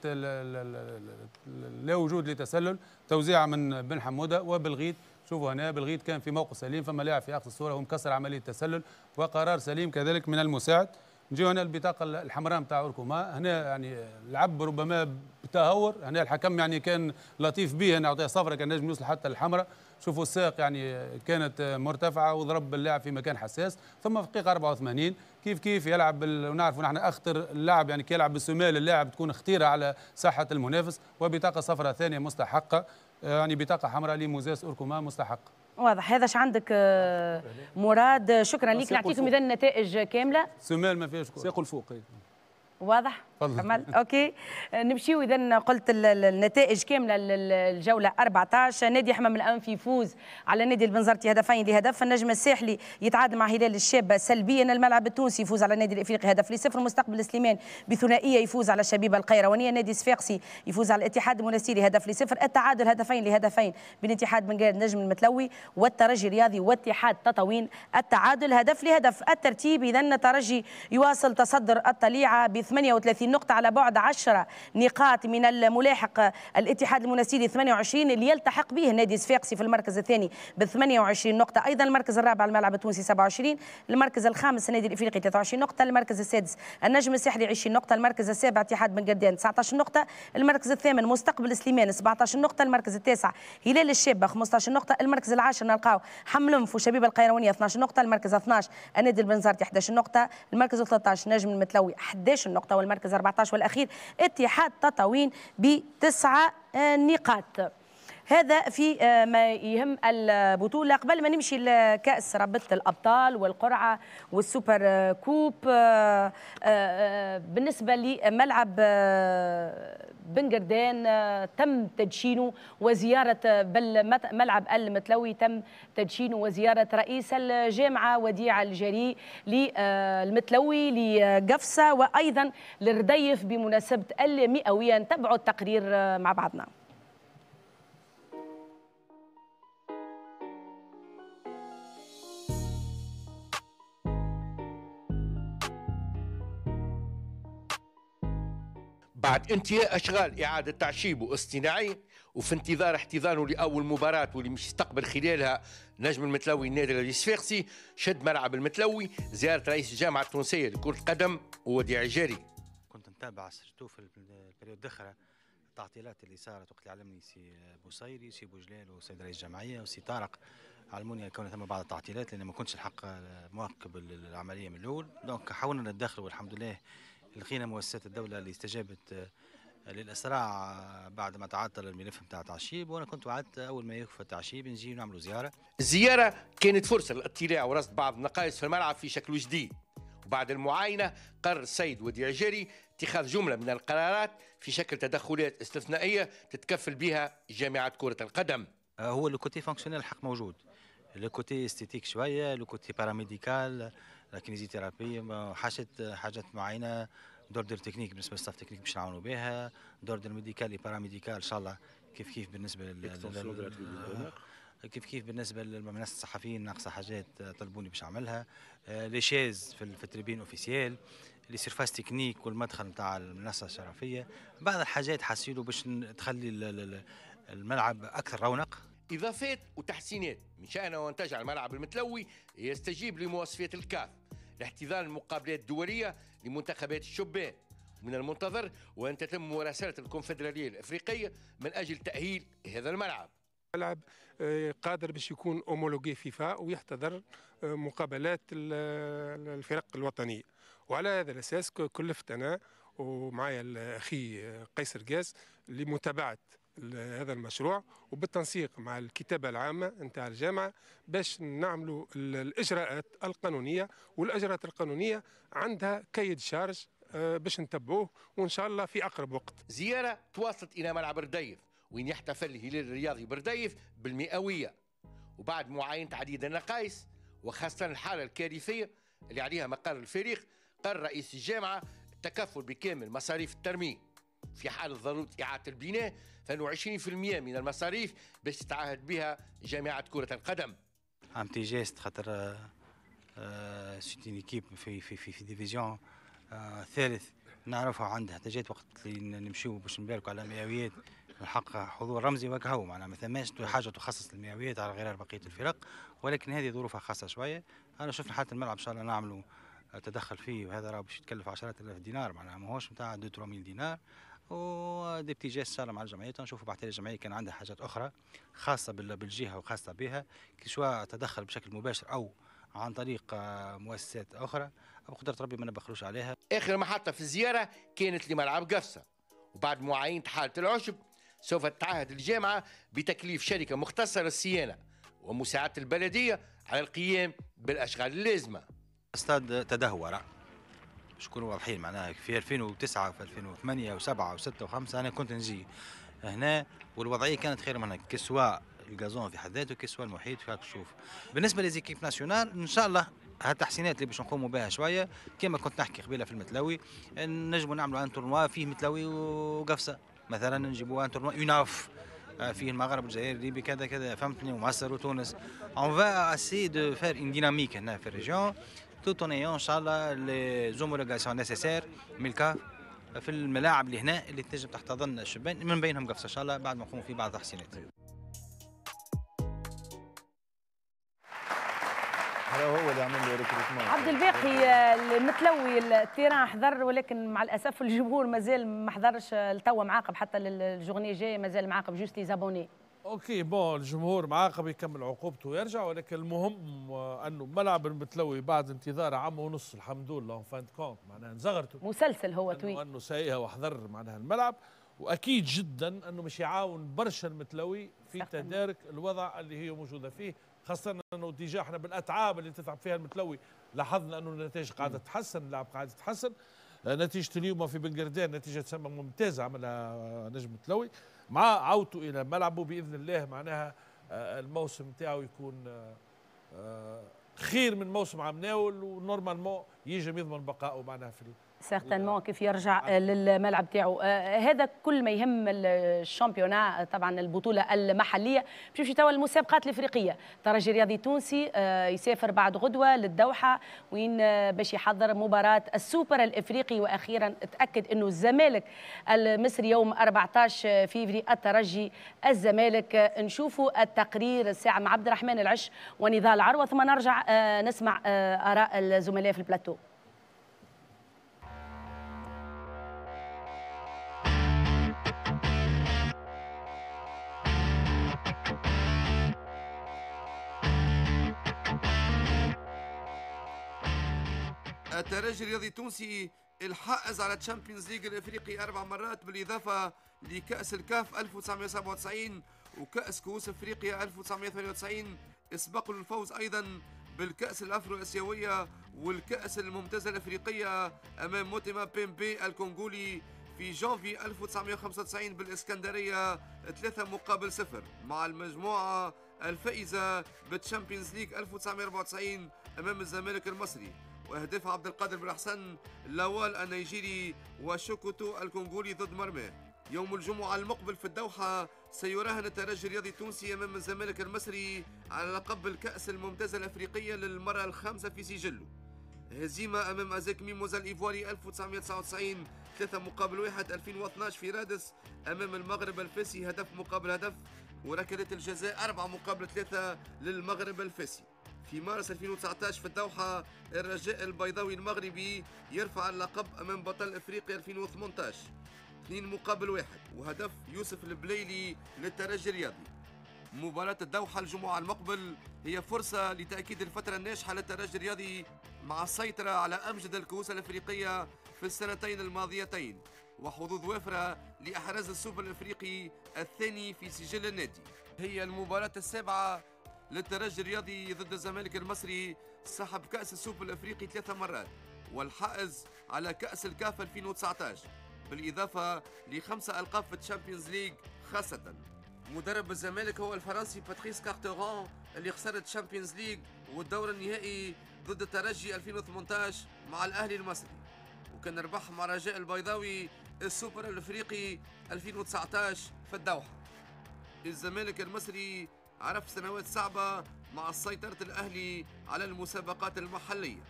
لا وجود لتسلل، توزيع من بن حموده وبالغيت. شوفوا هنا بالغيت كان في موقف سليم، فما لاعب في اقصى الصورة ومكسر عملية التسلل وقرار سليم كذلك من المساعد. نجيو هنا البطاقة الحمراء نتاع اوركوما، هنا يعني لعب ربما بتهور، هنا الحكم يعني كان لطيف به، هنا اعطيه صفرة كان نجم يوصل حتى الحمراء. شوفوا الساق يعني كانت مرتفعة وضرب اللاعب في مكان حساس. ثم في الدقيقة أربعة وثمانين كيف كيف يلعب بال... ونعرفوا نحن اخطر اللاعب يعني كي يلعب بالسمال اللاعب تكون خطيرة على ساحة المنافس، وبطاقه صفراء ثانية مستحقه، يعني بطاقة حمراء لموزيس اوركوما مستحقه. واضح هذا اش عندك مراد، شكرا لك. نعطيكم اذا النتائج كاملة. سمال ما فيهاش ساق الفوق. واضح؟ كمل OK. نمشيو اذا قلت النتائج كاملة للجوله أربعطاش. نادي حمام الانف يفوز على نادي البنزرتي هدفين لهدف، النجم الساحلي يتعادل مع هلال الشابة سلبيا، الملعب التونسي يفوز على النادي الافريقي هدف لصفر، مستقبل سليمان بثنائيه يفوز على الشبيبة القيروانيه، نادي صفاقسي يفوز على الاتحاد المنستيري هدف لصفر، التعادل هدفين لهدفين بين اتحاد بنغال النجم المتلوي والترجي الرياضي واتحاد تطاوين، التعادل هدف لهدف. الترتيب اذا الترجي يواصل تصدر الطليعة ب ثمانية وثلاثين نقطة على بعد عشرة نقاط من الملاحق الاتحاد المنستيري ثمانية وعشرين اللي يلتحق به النادي الصفاقسي في المركز الثاني ب ثمانية وعشرين نقطة. أيضا المركز الرابع الملعب التونسي سبعة وعشرين، المركز الخامس النادي الإفريقي ثلاثة وعشرين نقطة، المركز السادس النجم الساحلي عشرين نقطة، المركز السابع اتحاد بن قردان تسعة عشر نقطة، المركز الثامن مستقبل سليمان سبعة عشر نقطة، المركز التاسع هلال الشابة خمسة عشر نقطة، المركز العاشر نلقاو حملنف وشبيبة القيروانية اثنا عشر نقطة، المركز اثنا عشر النادي البنزرتي أحد عشر نقطة، المركز ثلاثة عشر نجم المتلوي أحد عشر نقطة، والمركز أربعة عشر والأخير اتحاد تطاوين بتسعة نقاط. هذا في ما يهم البطولة. قبل ما نمشي لكأس رابطة الأبطال والقرعة وال super coupe، بالنسبة لملعب بن قردان تم تدشينه وزيارة، بل ملعب المتلوي تم تدشينه وزيارة رئيس الجامعة وديع الجري للمتلوي لقفصة وأيضا للرديف بمناسبة المئوية. نتبعوا التقرير مع بعضنا. بعد انتهاء أشغال إعادة تعشيبه اصطناعي وفي انتظار احتضانه لأول مباراة واللي مش يستقبل خلالها نجم المتلوي النادي الصفاقسي، شد ملعب المتلوي زيارة رئيس الجامعة التونسية لكرة القدم وديع الجري. كنت نتابع surtout في ال période الأخرى التعطيلات اللي صارت وقت اللي علمني سي بوصيري سي بوجلال وسيد رئيس الجمعية وسي طارق، علموني كون ثم بعض التعطيلات لأن ما كنتش الحق مواكب العملية من الأول، donc حاولنا نتدخل والحمد لله لقينا مؤسسات الدولة اللي استجابت للإسراع بعد ما تعطل الملف نتاع تعشيب، وأنا كنت وعدت أول ما يكفى التعشيب نجي ونعملوا زيارة. الزيارة كانت فرصة للاطلاع ورصد بعض النقائص في الملعب في شكل جديد، وبعد المعاينة قرر السيد وديع الجري اتخاذ جملة من القرارات في شكل تدخلات استثنائية تتكفل بها جامعة كرة القدم. هو le côté fonctionnel الحق موجود، le côté esthétique شوية، le côté paramédical، la kinésithérapie، حاجات حاجات معينة، d'ordre technique بالنسبة لل staff technique باش نعاونوا بها، d'ordre médical paramédical ان شاء الله كيف كيف بالنسبة لل كيف كيف بالنسبة للناس الصحفيين ناقصه حاجات طلبوني باش نعملها، les chaises في ال tribune officielle، les surfaces techniques والمدخل نتاع المنصة الشرفيه، بعض الحاجات حاسيلو باش تخلي الملعب اكثر رونق. اضافات وتحسينات من شأنها وان تجعل الملعب المتلوي يستجيب لمواصفات الكاف لاحتضان المقابلات الدولية لمنتخبات الشبان. من المنتظر وأن تتم مراسلة الكونفدرالية الأفريقية من أجل تأهيل هذا الملعب. الملعب قادر باش يكون homologué فيفا ويحتضر مقابلات الفرق الوطنية، وعلى هذا الأساس كلفت أنا ومعايا أخي قيس رقاز لمتابعة هذا المشروع وبالتنسيق مع الكتابة العامة نتاع الجامعة باش نعملوا الإجراءات القانونية، والإجراءات القانونية عندها cahier des charges باش نتبعوه وإن شاء الله في أقرب وقت. زيارة تواصلت إلى ملعب رديف وين يحتفل الهلال الرياضي برديف بالمئوية، وبعد معاينة عديد النقائص وخاصة الحالة الكارثية اللي عليها مقر الفريق، قرر رئيس الجامعة التكفل بكامل مصاريف الترميم. في حال ضرورة إعادة البناء فإنه عشرين بالمئة من المصاريف باش تتعهد بها جامعة كرة القدم. un petit geste خاطر c'est une équipe في في في, في division ثالث نعرفها عندها احتاجات وقت اللي نمشيو باش نباركوا على مئويات الحق حضور رمزي وكهو، معناها ما ثماش حاجة تخصص للمئويات على غرار بقية الفرق، ولكن هذه ظروفها خاصة شوية. انا شفنا حاله الملعب ان شاء الله نعملوا تدخل فيه، وهذا راه باش يتكلف عشرات الاف دينار، معناها ماهوش نتاع deux trois mille دينار، و des petits gestes ان شاء الله مع الجمعية. نشوفوا بعد الجمعية كان عندها حاجات اخرى خاصة بالجهة وخاصة بها، que ce soit تدخل بشكل مباشر او عن طريق مؤسسات اخرى، بقدره ربي ما نبخلوش عليها. اخر محطة في الزيارة كانت لملعب قفصه، وبعد معاينة حاله العشب سوف تتعهد الجامعة بتكليف شركة مختصة للصيانه ومساعدة البلدية على القيام بالاشغال اللازمة. استاد تدهور باش نكونوا واضحين، معناها في ألفين وتسعة في ألفين وثمانية وسبعة وستة وخمسة انا كنت نجي هنا والوضعيه كانت خير من هنا، que ce soit ال gazon في حد ذاته que ce soit المحيط فيك تشوف. بالنسبة les équipes nationales ان شاء الله هالتحسينات اللي باش نقوموا بها شوية كما كنت نحكي قبيلة في المتلوي، نجموا نعملوا un tournoi فيه متلوي وقفصه مثلا، نجيبوا un tournoi UNAF فيه المغرب والجزائر الليبي كذا كذا فهمتني، ومصر وتونس. on va essayer de faire une dynamique هنا في ال région tout en ayant ان شاء الله les homologations nécessaires من الكاف في الملاعب اللي هنا اللي تنجم تحتضن الشبان، من بينهم قفصه ان شاء الله بعد ما نقوموا في بعض التحسينات. هذا هو اللي عمل له recrutement. عبد الباقي المتلوي ال terrain حضر، ولكن مع الاسف الجمهور مازال ما حضرش لتوا، معاقب حتى لل journée الجاية مازال معاقب juste les abonnés. OK bon الجمهور معاقب يكمل عقوبته ويرجع، ولكن المهم انه ملعب المتلوي بعد انتظار عام ونص الحمد لله en fin de compte معناها نزغرته مسلسل هو طويل انه سايها وحضر معناها الملعب، واكيد جدا انه مش يعاون برشا المتلوي في تدارك الوضع اللي هي موجودة فيه، خاصة انه déjà احنا بالاتعاب اللي تتعب فيها المتلوي لاحظنا انه النتائج قاعدة تتحسن، اللعب قاعد يتحسن. نتيجة اليوم في بنقردان نتيجة تسمى ممتازة عملها نجم المتلوي مع عودته الى ملعبه باذن الله، معناها الموسم نتاعو يكون خير من موسم عام ناول، و normalement يجم يضمن بقائه معناها في certainement كيف يرجع للملعب تاعو. هذا كل ما يهم ال championnat طبعا البطولة المحلية. باش نمشي توا المسابقات الافريقية، الترجي الرياضي التونسي يسافر بعد غدوه للدوحه وين باش يحضر مباراة السوبر الافريقي، واخيرا تاكد انه الزمالك المصري يوم أربعة عشر فيفري الترجي الزمالك. نشوفوا التقرير الساعة مع عبد الرحمن العش ونضال عروة، ثم نرجع نسمع اراء الزملاء في البلاتو. الترجي الرياضي التونسي الحائز على Champions League الافريقي اربع مرات، بالاضافة لكاس الكاف ألف وتسعمائة وسبعة وتسعين وكاس كؤوس افريقيا ألف وتسعمائة وثمانية وتسعين، سبق للفوز ايضا بالكاس الافرو اسيوية والكاس الممتازة الافريقية امام موتيما بيمبي الكونغولي في جانفي ألف وتسعمائة وخمسة وتسعين بالاسكندرية ثلاثة مقابل صفر، مع المجموعة الفائزه بال Champions League ألف وتسعمائة وأربعة وتسعين امام الزمالك المصري، واهداف عبد القادر بالحسن لاوال النيجيري وشوكوتو الكونغولي ضد مرماه. يوم الجمعة المقبل في الدوحة سيراهن الترجي الرياضي التونسي أمام الزمالك المصري على لقب الكأس الممتازة الأفريقية للمرة الخامسة في سجله. هزيمة أمام أزاك ميموزا الإيفواري ألف وتسعمائة وتسعة وتسعين ثلاثة مقابل واحد، ألفين واثناش في رادس أمام المغرب الفاسي هدف مقابل هدف، وركلة الجزاء أربعة مقابل ثلاثة للمغرب الفاسي. في مارس ألفين وتسعة عشر في الدوحة الرجاء البيضاوي المغربي يرفع اللقب أمام بطل أفريقيا ألفين وثمانية عشر اثنين مقابل واحد، وهدف يوسف البليلي للترجي الرياضي. مباراة الدوحة الجمعة المقبل هي فرصة لتأكيد الفترة الناجحة للترجي الرياضي مع السيطرة على أمجد الكؤوس الأفريقية في السنتين الماضيتين، وحظوظ وافرة لإحراز السوبر الأفريقي الثاني في سجل النادي. هي المباراة السابعة للترجي الرياضي ضد الزمالك المصري صاحب كأس السوبر الأفريقي ثلاث مرات والحائز على كأس الكاف ألفين وتسعة عشر، بالإضافة لخمسة ألقاب في ال Champions League خاصة. مدرب الزمالك هو الفرنسي باتريس كارتورون اللي خسر ال Champions League والدور النهائي ضد الترجي ألفين وثمانية عشر مع الأهلي المصري، وكان ربح مع رجاء البيضاوي السوبر الأفريقي ألفين وتسعة عشر في الدوحة. الزمالك المصري عرف سنوات صعبة مع سيطرة الأهلي على المسابقات المحلية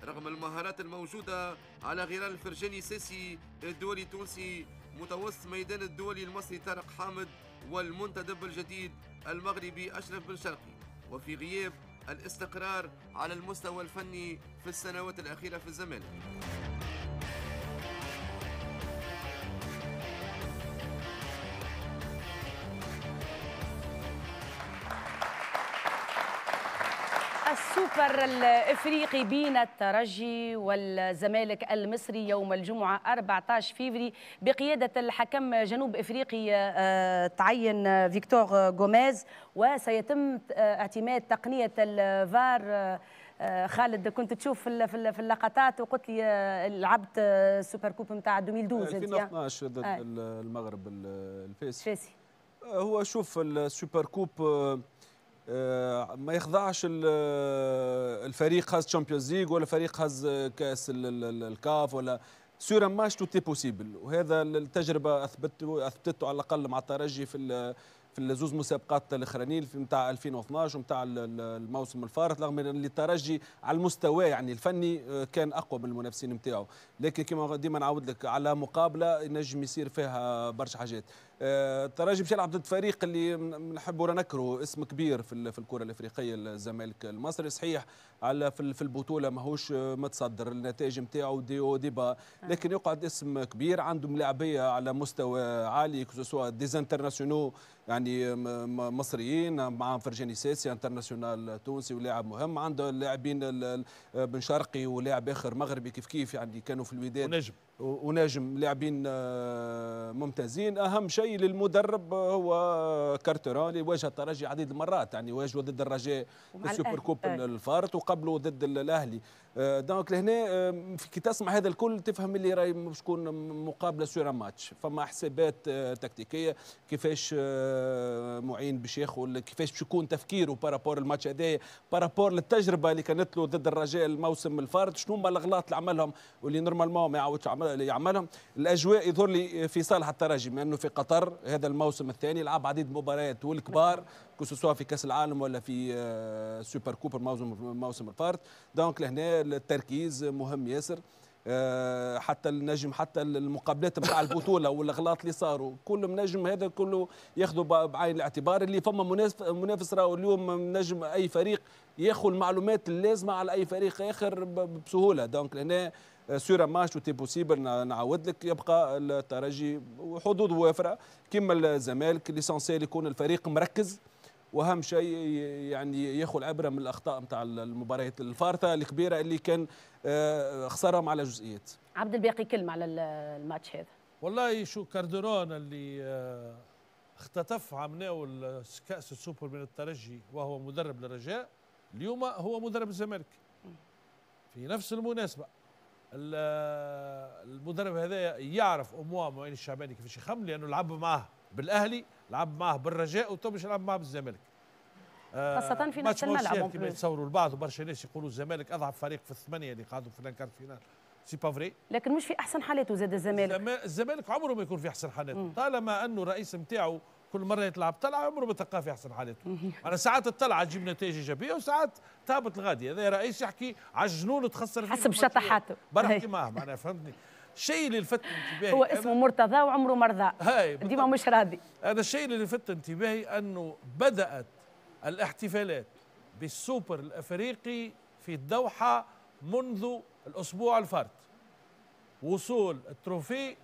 رغم المهارات الموجودة على غرار الفرجاني ساسي الدولي التونسي، متوسط ميدان الدولي المصري طارق حامد، والمنتدب الجديد المغربي أشرف بن شرقي، وفي غياب الاستقرار على المستوى الفني في السنوات الأخيرة في الزمالك. السوبر الافريقي بين الترجي والزمالك المصري يوم الجمعة أربعة عشر فيفري بقيادة الحكم جنوب افريقي تعين فيكتور غوميز، وسيتم اعتماد تقنية الفار. خالد كنت تشوف في اللقطات وقلت لي لعبت Super Coupe نتاع ألفين واثناش ألفين واثناش ضد المغرب الفاسي. هو شوف ال Super Coupe ما يخضعش الفريق هاز Champions League ولا فريق هاز كاس الكاف ولا sur un match tout est possible، وهذا التجربة اثبتته اثبتته على الاقل مع الترجي في في في الزوز مسابقات الاخرانيين نتاع ألفين واثناش ونتاع الموسم الفارط، رغم ان الترجي على المستوى يعني الفني كان اقوى من المنافسين نتاعو، لكن كما ديما نعاود لك على مقابله ينجم يصير فيها برشا حاجات. الترجي باش يلعب ضد فريق اللي نحبوا ولا نكرهوا اسم كبير في في الكره الافريقية، الزمالك المصري. صحيح على في البطولة ماهوش متصدر، النتائج نتاعو des hauts des bas، لكن يقعد اسم كبير، عنده ملاعبيه على مستوى عالي، que ce soit des internationaux يعني مصريين، مع فرجاني ساسي international تونسي ولاعب مهم، عنده اللاعبين بن شرقي ولاعب اخر مغربي كيف كيف يعني كانوا في الوداد ونجم ونجم، لاعبين ممتازين. اهم شيء للمدرب هو كارترون اللي واجه الترجي عديد المرات، يعني واجهه ضد الرجاء في ال super coupe الفارط وقبله ضد الاهلي. donc لهنا كي تسمع هذا الكل تفهم اللي راهي باش تكون مقابله sur match، فما حسابات تكتيكية كيفاش معين باش ياخذ، كيفاش باش يكون تفكيره par rapport الماتش هذايا، par rapport للتجربه اللي كانت له ضد الرجاء الموسم الفارط، شنو هما الاغلاط اللي عملهم واللي normalement ما يعاودش يعملهم. الاجواء يظهر لي في صالح الترجي، بما انه في قطر هذا الموسم الثاني لعب عديد المباريات والكبار، que ce soit في كاس العالم ولا في super coupe الموسم الموسم الفارط. donc لهنا التركيز مهم ياسر، حتى النجم حتى المقابلات نتاع البطولة والاغلاط اللي صاروا كل نجم هذا كله ياخذوا بعين الاعتبار اللي فما منافس. راهو اليوم نجم اي فريق ياخذ المعلومات اللازمة على اي فريق اخر بسهولة. donc لهنا sur match tout est possible، نعاود لك يبقى الترجي وحظوظ وافرة كما الزمالك، l'essentiel يكون الفريق مركز، واهم شيء يعني ياخذ العبرة من الاخطاء نتاع المباريات الفارطه الكبيرة اللي كان خسرهم على جزئيات. عبد الباقي كلمة على الماتش هذا. والله شو كاردرون اللي اختطف عمناو كاس السوبر من الترجي وهو مدرب للرجاء، اليوم هو مدرب الزمالك في نفس المناسبة. المدرب هذا يعرف au moins معين الشعباني كيفاش يخمم، لانه لعب معاه بالاهلي، لعب معاه بالرجاء، وتو باش يلعب معاه بالزمالك. خاصة في نفس الملعب كما يتصوروا البعض، وبرشا ناس يقولوا الزمالك اضعف فريق في الثمانية اللي قعدوا في ال quart de finale، c'est pas vrai. لكن مش في احسن حالاته زاد الزمالك. الزمالك عمره ما يكون في احسن حالاته، طالما انه الرئيس نتاعو كل مرة يطلع بطلعه عمره ما تلقاه في احسن حالاته. انا ساعات الطلعة تجيب نتائج ايجابية وساعات تهبط الغادي. هذا رئيس يحكي على الجنون تخسر فيه حسب شطحاته. برحكي معاه معناها، فهمتني. الشيء اللي لفت انتباهي هو اسمه مرتضى وعمره مرضى، ديما مش راضي. هذا الشيء اللي لفت انتباهي انه بدات الاحتفالات بالسوبر الافريقي في الدوحة منذ الاسبوع الفارط، وصول ال trophée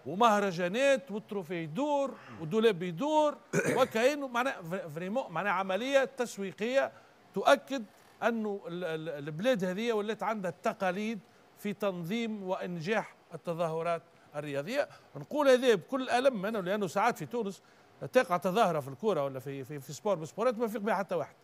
ومهرجانات وال trophée يدور ودولاب يدور، وكأنه معناها vraiment معناها عملية تسويقية تؤكد انه البلاد هذه ولات عندها التقاليد في تنظيم وانجاح التظاهرات الرياضية. نقول هذا بكل الم انا، لانه ساعات في تونس تقع تظاهرة في الكورة ولا في في, في sport بسبورات ما يفيق بها حتى واحد.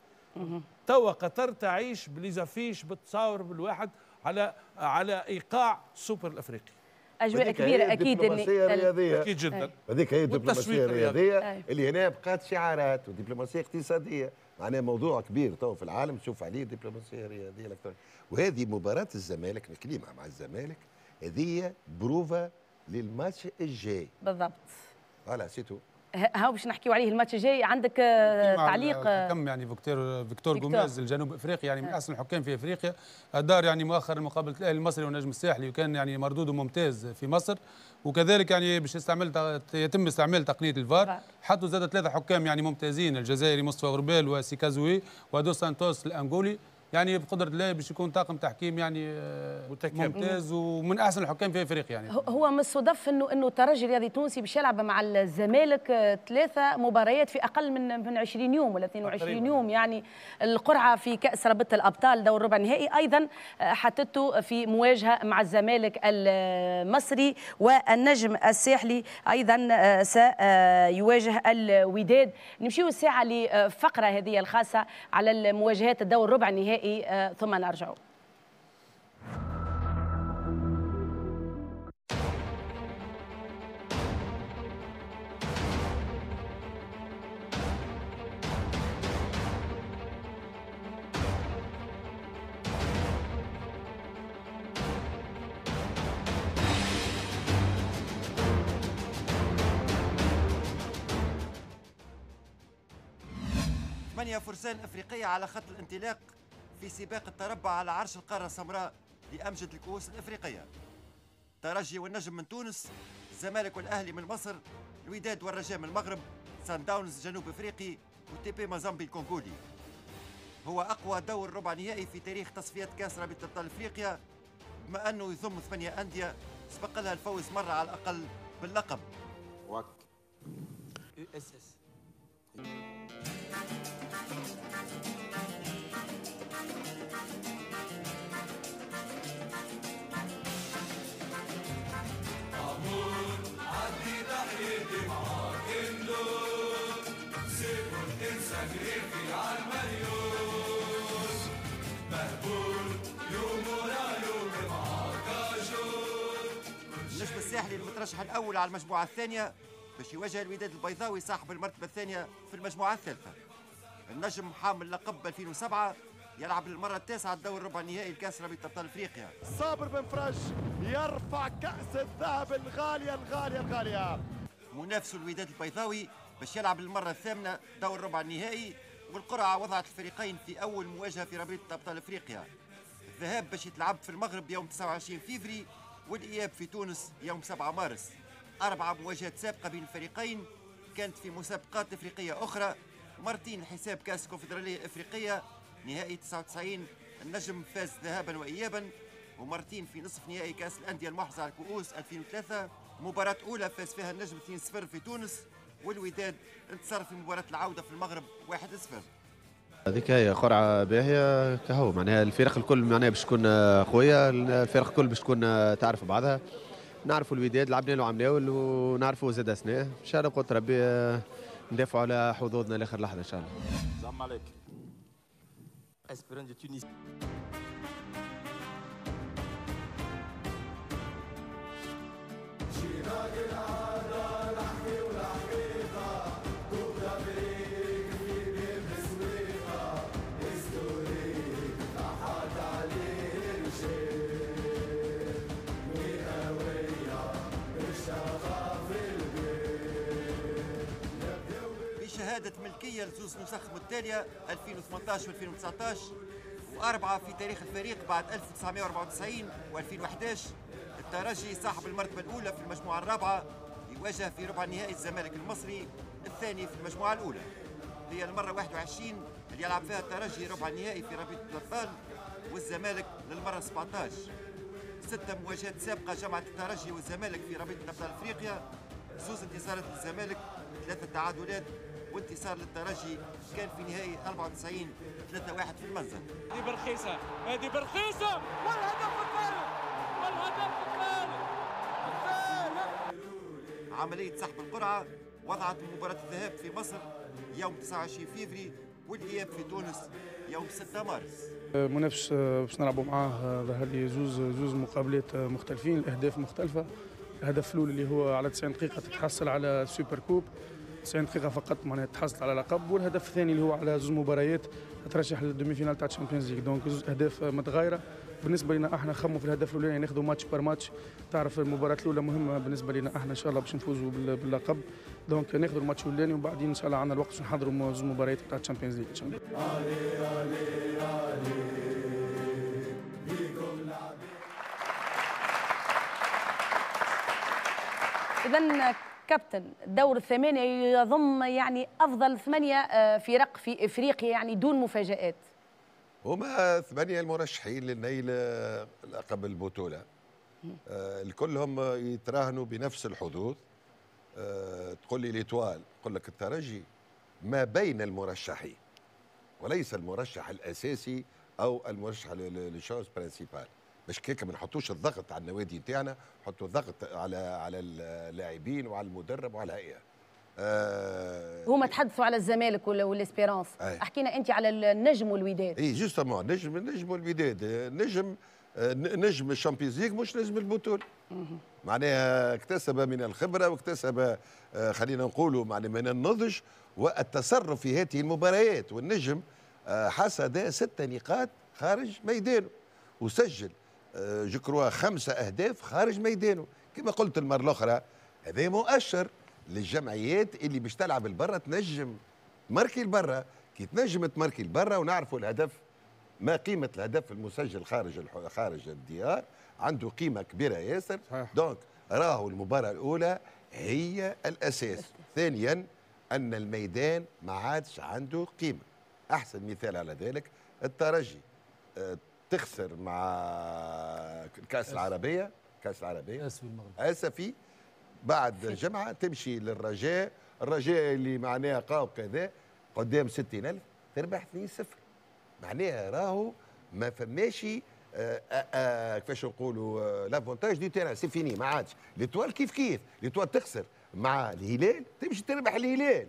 توا قطر تعيش ب les affiches بتصاور بالواحد على على ايقاع السوبر الافريقي. اجواء كبيرة اكيد. الدبلوماسية الرياضية اكيد جدا، هذيك هي الدبلوماسية الرياضية اللي هنا بقات شعارات ودبلوماسيه اقتصادية، معناها موضوع كبير تو في العالم تشوف عليه الدبلوماسية الرياضية الالكترونية. وهذه مباراة الزمالك، الكلمة مع الزمالك هذه بروفا للماتش الجاي بالضبط. voilà c'est tout. هاو باش نحكيو عليه الماتش الجاي. عندك تعليق؟ الحكم يعني فيكتور فيكتور جوميز الجنوب افريقي، يعني من احسن الحكام في افريقيا، ادار يعني مؤخرا مقابله الاهلي المصري والنجم الساحلي، وكان يعني مردودة ممتاز في مصر. وكذلك يعني باش يستعمل يتم استعمال تقنية الفار، حطوا زاد ثلاثة حكام يعني ممتازين، الجزائري مصطفى غربال وسيكازوي ودو سانتوس الانغولي. يعني بقدره الله باش يكون طاقم تحكيم يعني متكامل ممتاز ومن احسن الحكام في افريقيا. يعني هو من الصدف انه انه الترجي الرياضي التونسي باش يلعب مع الزمالك ثلاثة مباريات في اقل من من عشرين يوم ولا اثنين وعشرين يوم، يعني القرعة في كاس رابطه الابطال دور ربع النهائي ايضا حطته في مواجهة مع الزمالك المصري، والنجم الساحلي ايضا سيواجه الوداد. نمشيو الساعة لفقره هذه الخاصة على المواجهات الدور ربع النهائي ثم نرجع. ثمانية فرسان أفريقية على خط الانطلاق في سباق التربع على عرش القارة السمراء لأمجد الكؤوس الأفريقية. ترجي والنجم من تونس، الزمالك والأهلي من مصر، الوداد والرجاء من المغرب، سان داونز جنوب أفريقي، وتيبي مازامبي الكونغولي. هو أقوى دور ربع نهائي في تاريخ تصفيات كأس رابطة أبطال أفريقيا، بما أنه يضم ثمانية أندية سبق لها الفوز مرة على الأقل باللقب. واك اس اس النجم الساحلي المترشح الأول على المجموعة الثانية باش يواجه الوداد البيضاوي صاحب المرتبة الثانية في المجموعة الثالثة. النجم حامل لقب ألفين وسبعة يلعب للمرة التاسعة الدور ربع النهائي لكأس رابطة أبطال أفريقيا. صابر بن فرج يرفع كأس الذهب الغالية الغالية الغالية. منافسه الوداد البيضاوي باش يلعب للمرة الثامنة دور ربع النهائي، والقرعة وضعت الفريقين في أول مواجهة في رابطة أبطال أفريقيا. الذهاب باش يتلعب في المغرب يوم تسعة وعشرين فيفري والإياب في تونس يوم سبعة مارس. أربعة مواجهات سابقة بين الفريقين كانت في مسابقات إفريقية أخرى، مرتين حساب كأس الكونفدرالية الإفريقية نهائي تسعة وتسعين النجم فاز ذهابا وإيابا، ومرتين في نصف نهائي كأس الأندية المحرزة على الكؤوس ألفين وثلاثة، مباراة أولى فاز فيها النجم اثنين صفر في تونس، والوداد انتصر في مباراة العودة في المغرب واحد صفر. هذيك هي قرعة باهية كهو، معناها الفرق الكل معناها باش تكون قوية، الفرق الكل باش تكون تعرف بعضها. نعرفوا الوداد لعبنا له عملاول ونعرفوا زاد سنة، ان شاء الله بقدرة ربي ندافعوا على حظوظنا لاخر لحظة ان شاء الله. السلام عليكم. Espérance de Tunis. بشهادة ملكية لزوز نسخ متتالية ألفين وثمانية عشر وألفين وتسعة عشر، وأربعة في تاريخ الفريق بعد ألف وتسعمائة وأربعة وتسعين وألفين وأحد عشر. الترجي صاحب المرتبة الأولى في المجموعة الرابعة يواجه في ربع النهائي الزمالك المصري الثاني في المجموعة الأولى. هي المرة واحد وعشرين اللي يلعب فيها الترجي ربع النهائي في رابطة الأبطال، والزمالك للمرة سبعة عشر. ستة مواجهات سابقة جمعت الترجي والزمالك في رابطة أبطال أفريقيا، زوز انتصارات للزمالك، ثلاثة تعادلات، وانتصار للترجي كان في نهائي أربعة وتسعين ثلاثة واحد في المنزل. هذه برخيصة، هذه برخيصة، والهدف الثالث، والهدف الثالث، الثالث. عملية سحب القرعة وضعت مباراة الذهاب في مصر يوم تسعة وعشرين فيفري والإياب في تونس يوم ستة مارس. منافس باش نلعبوا معاه ظهر لي زوز زوز مقابلات مختلفين، الأهداف مختلفة. الهدف الأول اللي هو على تسعين دقيقة تتحصل على super coupe، تسعين دقيقة فقط معناها تحصل على لقب، والهدف الثاني اللي هو على زوج مباريات ترشح لل demi-finale تاع Champions League. donc زوج أهداف متغايرة. بالنسبة لنا احنا خموا في الهدف الأولاني ناخذوا match par match، تعرف المباراة الأولى مهمة بالنسبة لنا احنا إن شاء الله باش نفوزوا باللقب، donc ناخذوا الماتش الأولاني وبعدين إن شاء الله عندنا الوقت باش نحضروا زوج مباريات تاع Champions League إن شاء الله. إذن كابتن، دور الثمانية يضم يعني أفضل ثمانية فرق في إفريقيا يعني دون مفاجآت. هما ثمانية المرشحين للنيل لقب البطولة، الكلهم يتراهنوا بنفس الحظوظ. تقول لي l'Étoile، تقول لك الترجي ما بين المرشحين وليس المرشح الأساسي أو المرشح لل chose principale، باش كيك ما نحطوش الضغط على النوادي نتاعنا، نحطوا الضغط على على اللاعبين وعلى المدرب وعلى الهيئة. آه هما تحدثوا على الزمالك وال Espérance، احكينا انت على النجم والوداد. اي justement النجم النجم والوداد، النجم نجم ال Champions League مش نجم البطولة. معناها اكتسب من الخبرة واكتسب خلينا نقولوا معناها من النضج والتصرف في هذه المباريات، والنجم حصد ست نقاط خارج ميدانه وسجل je crois خمسة أهداف خارج ميدانه. كما قلت المرة الأخرى هذا مؤشر للجمعيات اللي باش تلعب البرة تنجم marquer البرة. كي تنجم تماركي لبرا، ونعرفوا الهدف ما قيمة الهدف المسجل خارج خارج الديار، عنده قيمة كبيرة ياسر. donc راهو المباراة الاولى هي الاساس. ثانيا ان الميدان ما عادش عنده قيمة. احسن مثال على ذلك الترجي تخسر مع الكاس العربية، كاس العربية اسفي، بعد جمعه تمشي للرجاء، الرجاء اللي معناها قاو كذا قدام ستين ألف تربح اثنين صفر. معناها راهو ما فماش كيفاش نقولوا l'avantage du terrain، c'est fini، ما عادش. l'Étoile كيف كيف، l'Étoile تخسر مع الهلال تمشي تربح الهلال.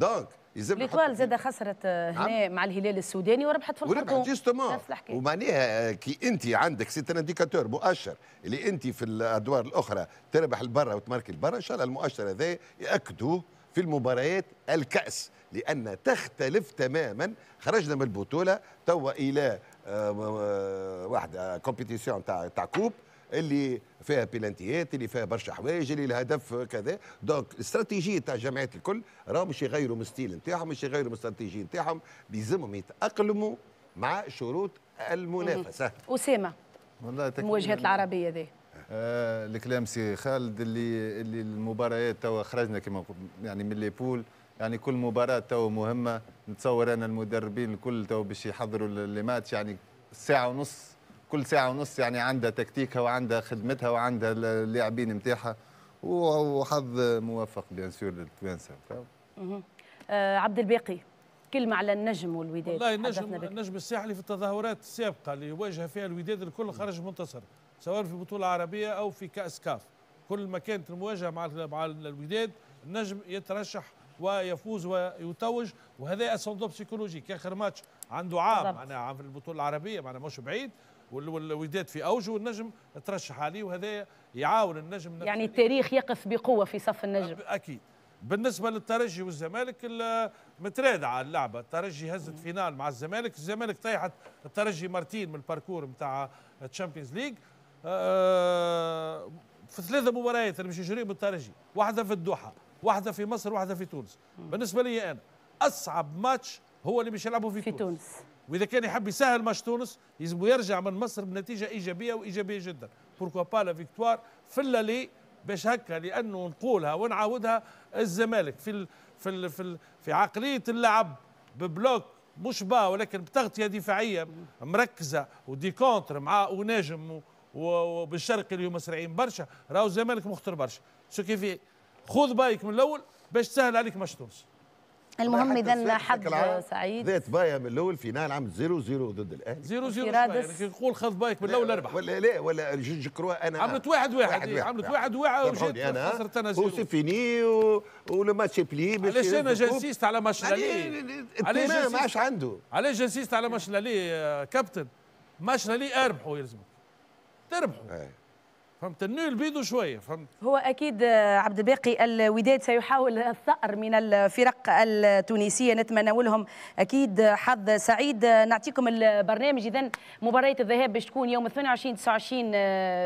donc l'Étoile زاد خسرت هنا مع الهلال السوداني وربحت في الخرطوم. وربحت justement. ومعناها كي انت عندك c'est un indicateur مؤشر اللي انت في الادوار الاخرى تربح البرة وتماركي البرة، ان شاء الله المؤشر هذا ياكدوه في المباريات الكأس، لأن تختلف تماما. خرجنا من البطولة توا إلى واحدة compétition تاع تاع coupe اللي فيها بيلانتيات، اللي فيها برشا حوايج، اللي الهدف كذا. donc الاستراتيجية تاع الجمعيات الكل راهم مش يغيروا من style نتاعهم، مش يغيروا من الاستراتيجية نتاعهم، بيلزمهم يتأقلموا مع شروط المنافسة. أسامة، والله المواجهات العربية ذي آه الكلام سي خالد اللي اللي المباريات توا خرجنا كما يعني من les poules، يعني كل مباراة توا مهمة. نتصور انا المدربين الكل توا باش يحضروا les matchs، يعني ساعة ونص، كل ساعة ونص يعني عندها تكتيكها وعندها خدمتها وعندها اللاعبين نتاعها، وحظ موفق bien sûr للتوانسة. آه عبد الباقي، كلمة على النجم والوداد. والله النجم النجم الساحلي في التظاهرات السابقة اللي واجه فيها الوداد الكل خرج منتصر، سواء في بطولة عربية أو في كأس كاف. كل ما كانت المواجهة مع مع الوداد النجم يترشح ويفوز ويتوج، وهذا ascendant psychologique. آخر ماتش عنده عام معناها عام في البطولة العربية، معناها مش بعيد، والوداد في أوجه والنجم ترشح عليه، وهذا يعاون النجم. يعني التاريخ يقف بقوة في صف النجم. أكيد. بالنسبة للترجي والزمالك مترادعة اللعبة، الترجي هزت finale مع الزمالك، الزمالك طيحت الترجي مرتين من ال parcours نتاع Champions League. في ثلاثة مباريات اللي باش يجريهم بالترجي، واحدة في الدوحة، واحدة في مصر، واحدة في تونس. بالنسبة لي أنا أصعب ماتش هو اللي باش يلعبوا في, في تونس. تونس. وإذا كان يحب يسهل ماتش تونس يلزم يرجع من مصر بنتيجة إيجابية وإيجابية جدا. pourquoi pas la victoire في l'aller باش هكا، لأنه نقولها ونعاودها، الزمالك في ال في ال في, ال في عقلية اللعب ب bloc مش bas ولكن بتغطية دفاعية مركزة و des contres مع وناجم وبالشرقي اللي هما سريعين برشا، راهو الزمالك مخطر برشا. ce qui fait خذ بايك من الاول باش تسهل عليك ماتش تونس. المهم اذا حظ سعيد. ذات بايا من الاول finale عام صفر صفر ضد الاهلي. صفر صفر يعني كي نقول خذ بايك من الاول اربح. ولا لا ولا je crois انا عملت واحد واحد، عملت واحد واحد وجيت خسرت انا zéro و c'est fini و le match plié. علاش انا j'insiste على match l'aller؟ علاش ما عادش عنده؟ علاش j'insiste على match l'aller كابتن؟ match l'aller اربحوا يلزمك تربحوا. فهمت؟ ال nul بيدو شوية، فهمت؟ هو اكيد عبد الباقي الوداد سيحاول الثأر من الفرق التونسية، نتمنى لهم اكيد حظ سعيد. نعطيكم البرنامج اذا مباراة الذهاب باش تكون يوم ثمانية وعشرين تسعة وعشرين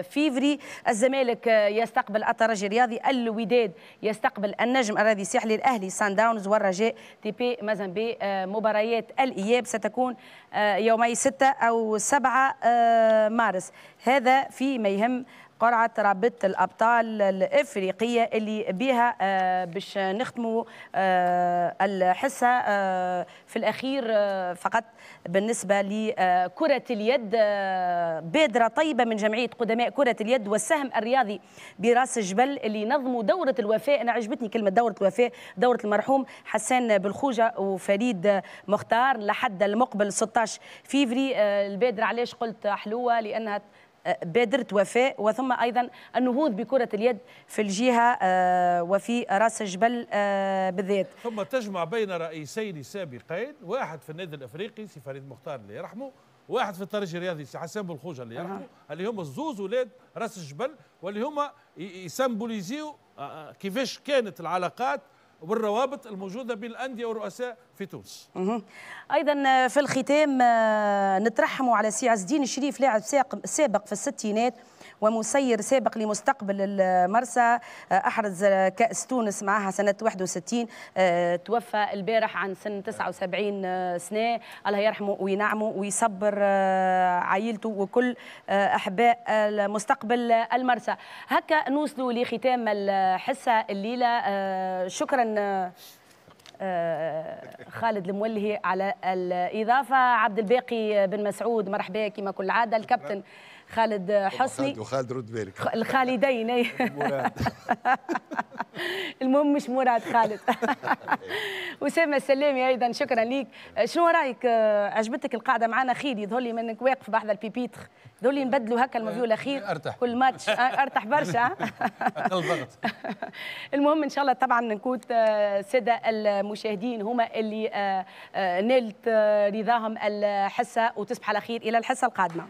فيفري، الزمالك يستقبل الترجي الرياضي، الوداد يستقبل النجم الرياضي الساحلي، الاهلي سان داونز والرجاء تي بي مازامبي. مباريات الاياب ستكون يومي ستة أو سبعة مارس. هذا فيما يهم قرعة رابطة الأبطال الإفريقية اللي بها باش نختموا الحصة. في الأخير فقط بالنسبة لكرة اليد، بادرة طيبة من جمعية قدماء كرة اليد والسهم الرياضي براس الجبل اللي نظموا دورة الوفاء. أنا عجبتني كلمة دورة الوفاء، دورة المرحوم حسان بالخوجة وفريد مختار لحد المقبل ستة عشر فيفري. البادرة علاش قلت حلوة؟ لأنها بادرة وفاء، وثم أيضا النهوض بكرة اليد في الجهة وفي راس الجبل بالذات. ثم تجمع بين رئيسين سابقين، واحد في النادي الأفريقي سي فريد مختار اللي يرحمه، واحد في الترجي الرياضي سي حسان بالخوجة اللي يرحمه، اللي هما الزوز ولاد راس الجبل، واللي هما يسمبوليزيو كيفاش كانت العلاقات والروابط الموجودة بين الأندية والرؤساء في تونس. أيضا في الختام نترحموا على سي عز الدين الشريف، لاعب سابق في الستينات ومسير سابق لمستقبل المرسى، أحرز كأس تونس معها سنة واحد وستين، توفى البارح عن سن تسعة وسبعين سنة. الله يرحمه وينعمه ويصبر عائلته وكل أحباء المستقبل المرسى. هكا نوصلوا لختام الحصة الليلة. شكرا خالد المولهي على الإضافة، عبد الباقي بن مسعود مرحبا كما كل عادة، الكابتن خالد حسني وخالد رد بالك الخالدين المهم مش مراد خالد. أسامة السلامي أيضا شكرا ليك. شنو رأيك، عجبتك القاعدة معنا؟ خير يظهر لي منك واقف بحذا ال pupitre، يظهر لي نبدلوا هكا المفيول الأخير أرتاح. كل ماتش أرتاح برشا. أقل ضغط. المهم إن شاء الله طبعا نكون السادة المشاهدين هما اللي نالت رضاهم الحصة، وتصبح على خير إلى الحصة القادمة.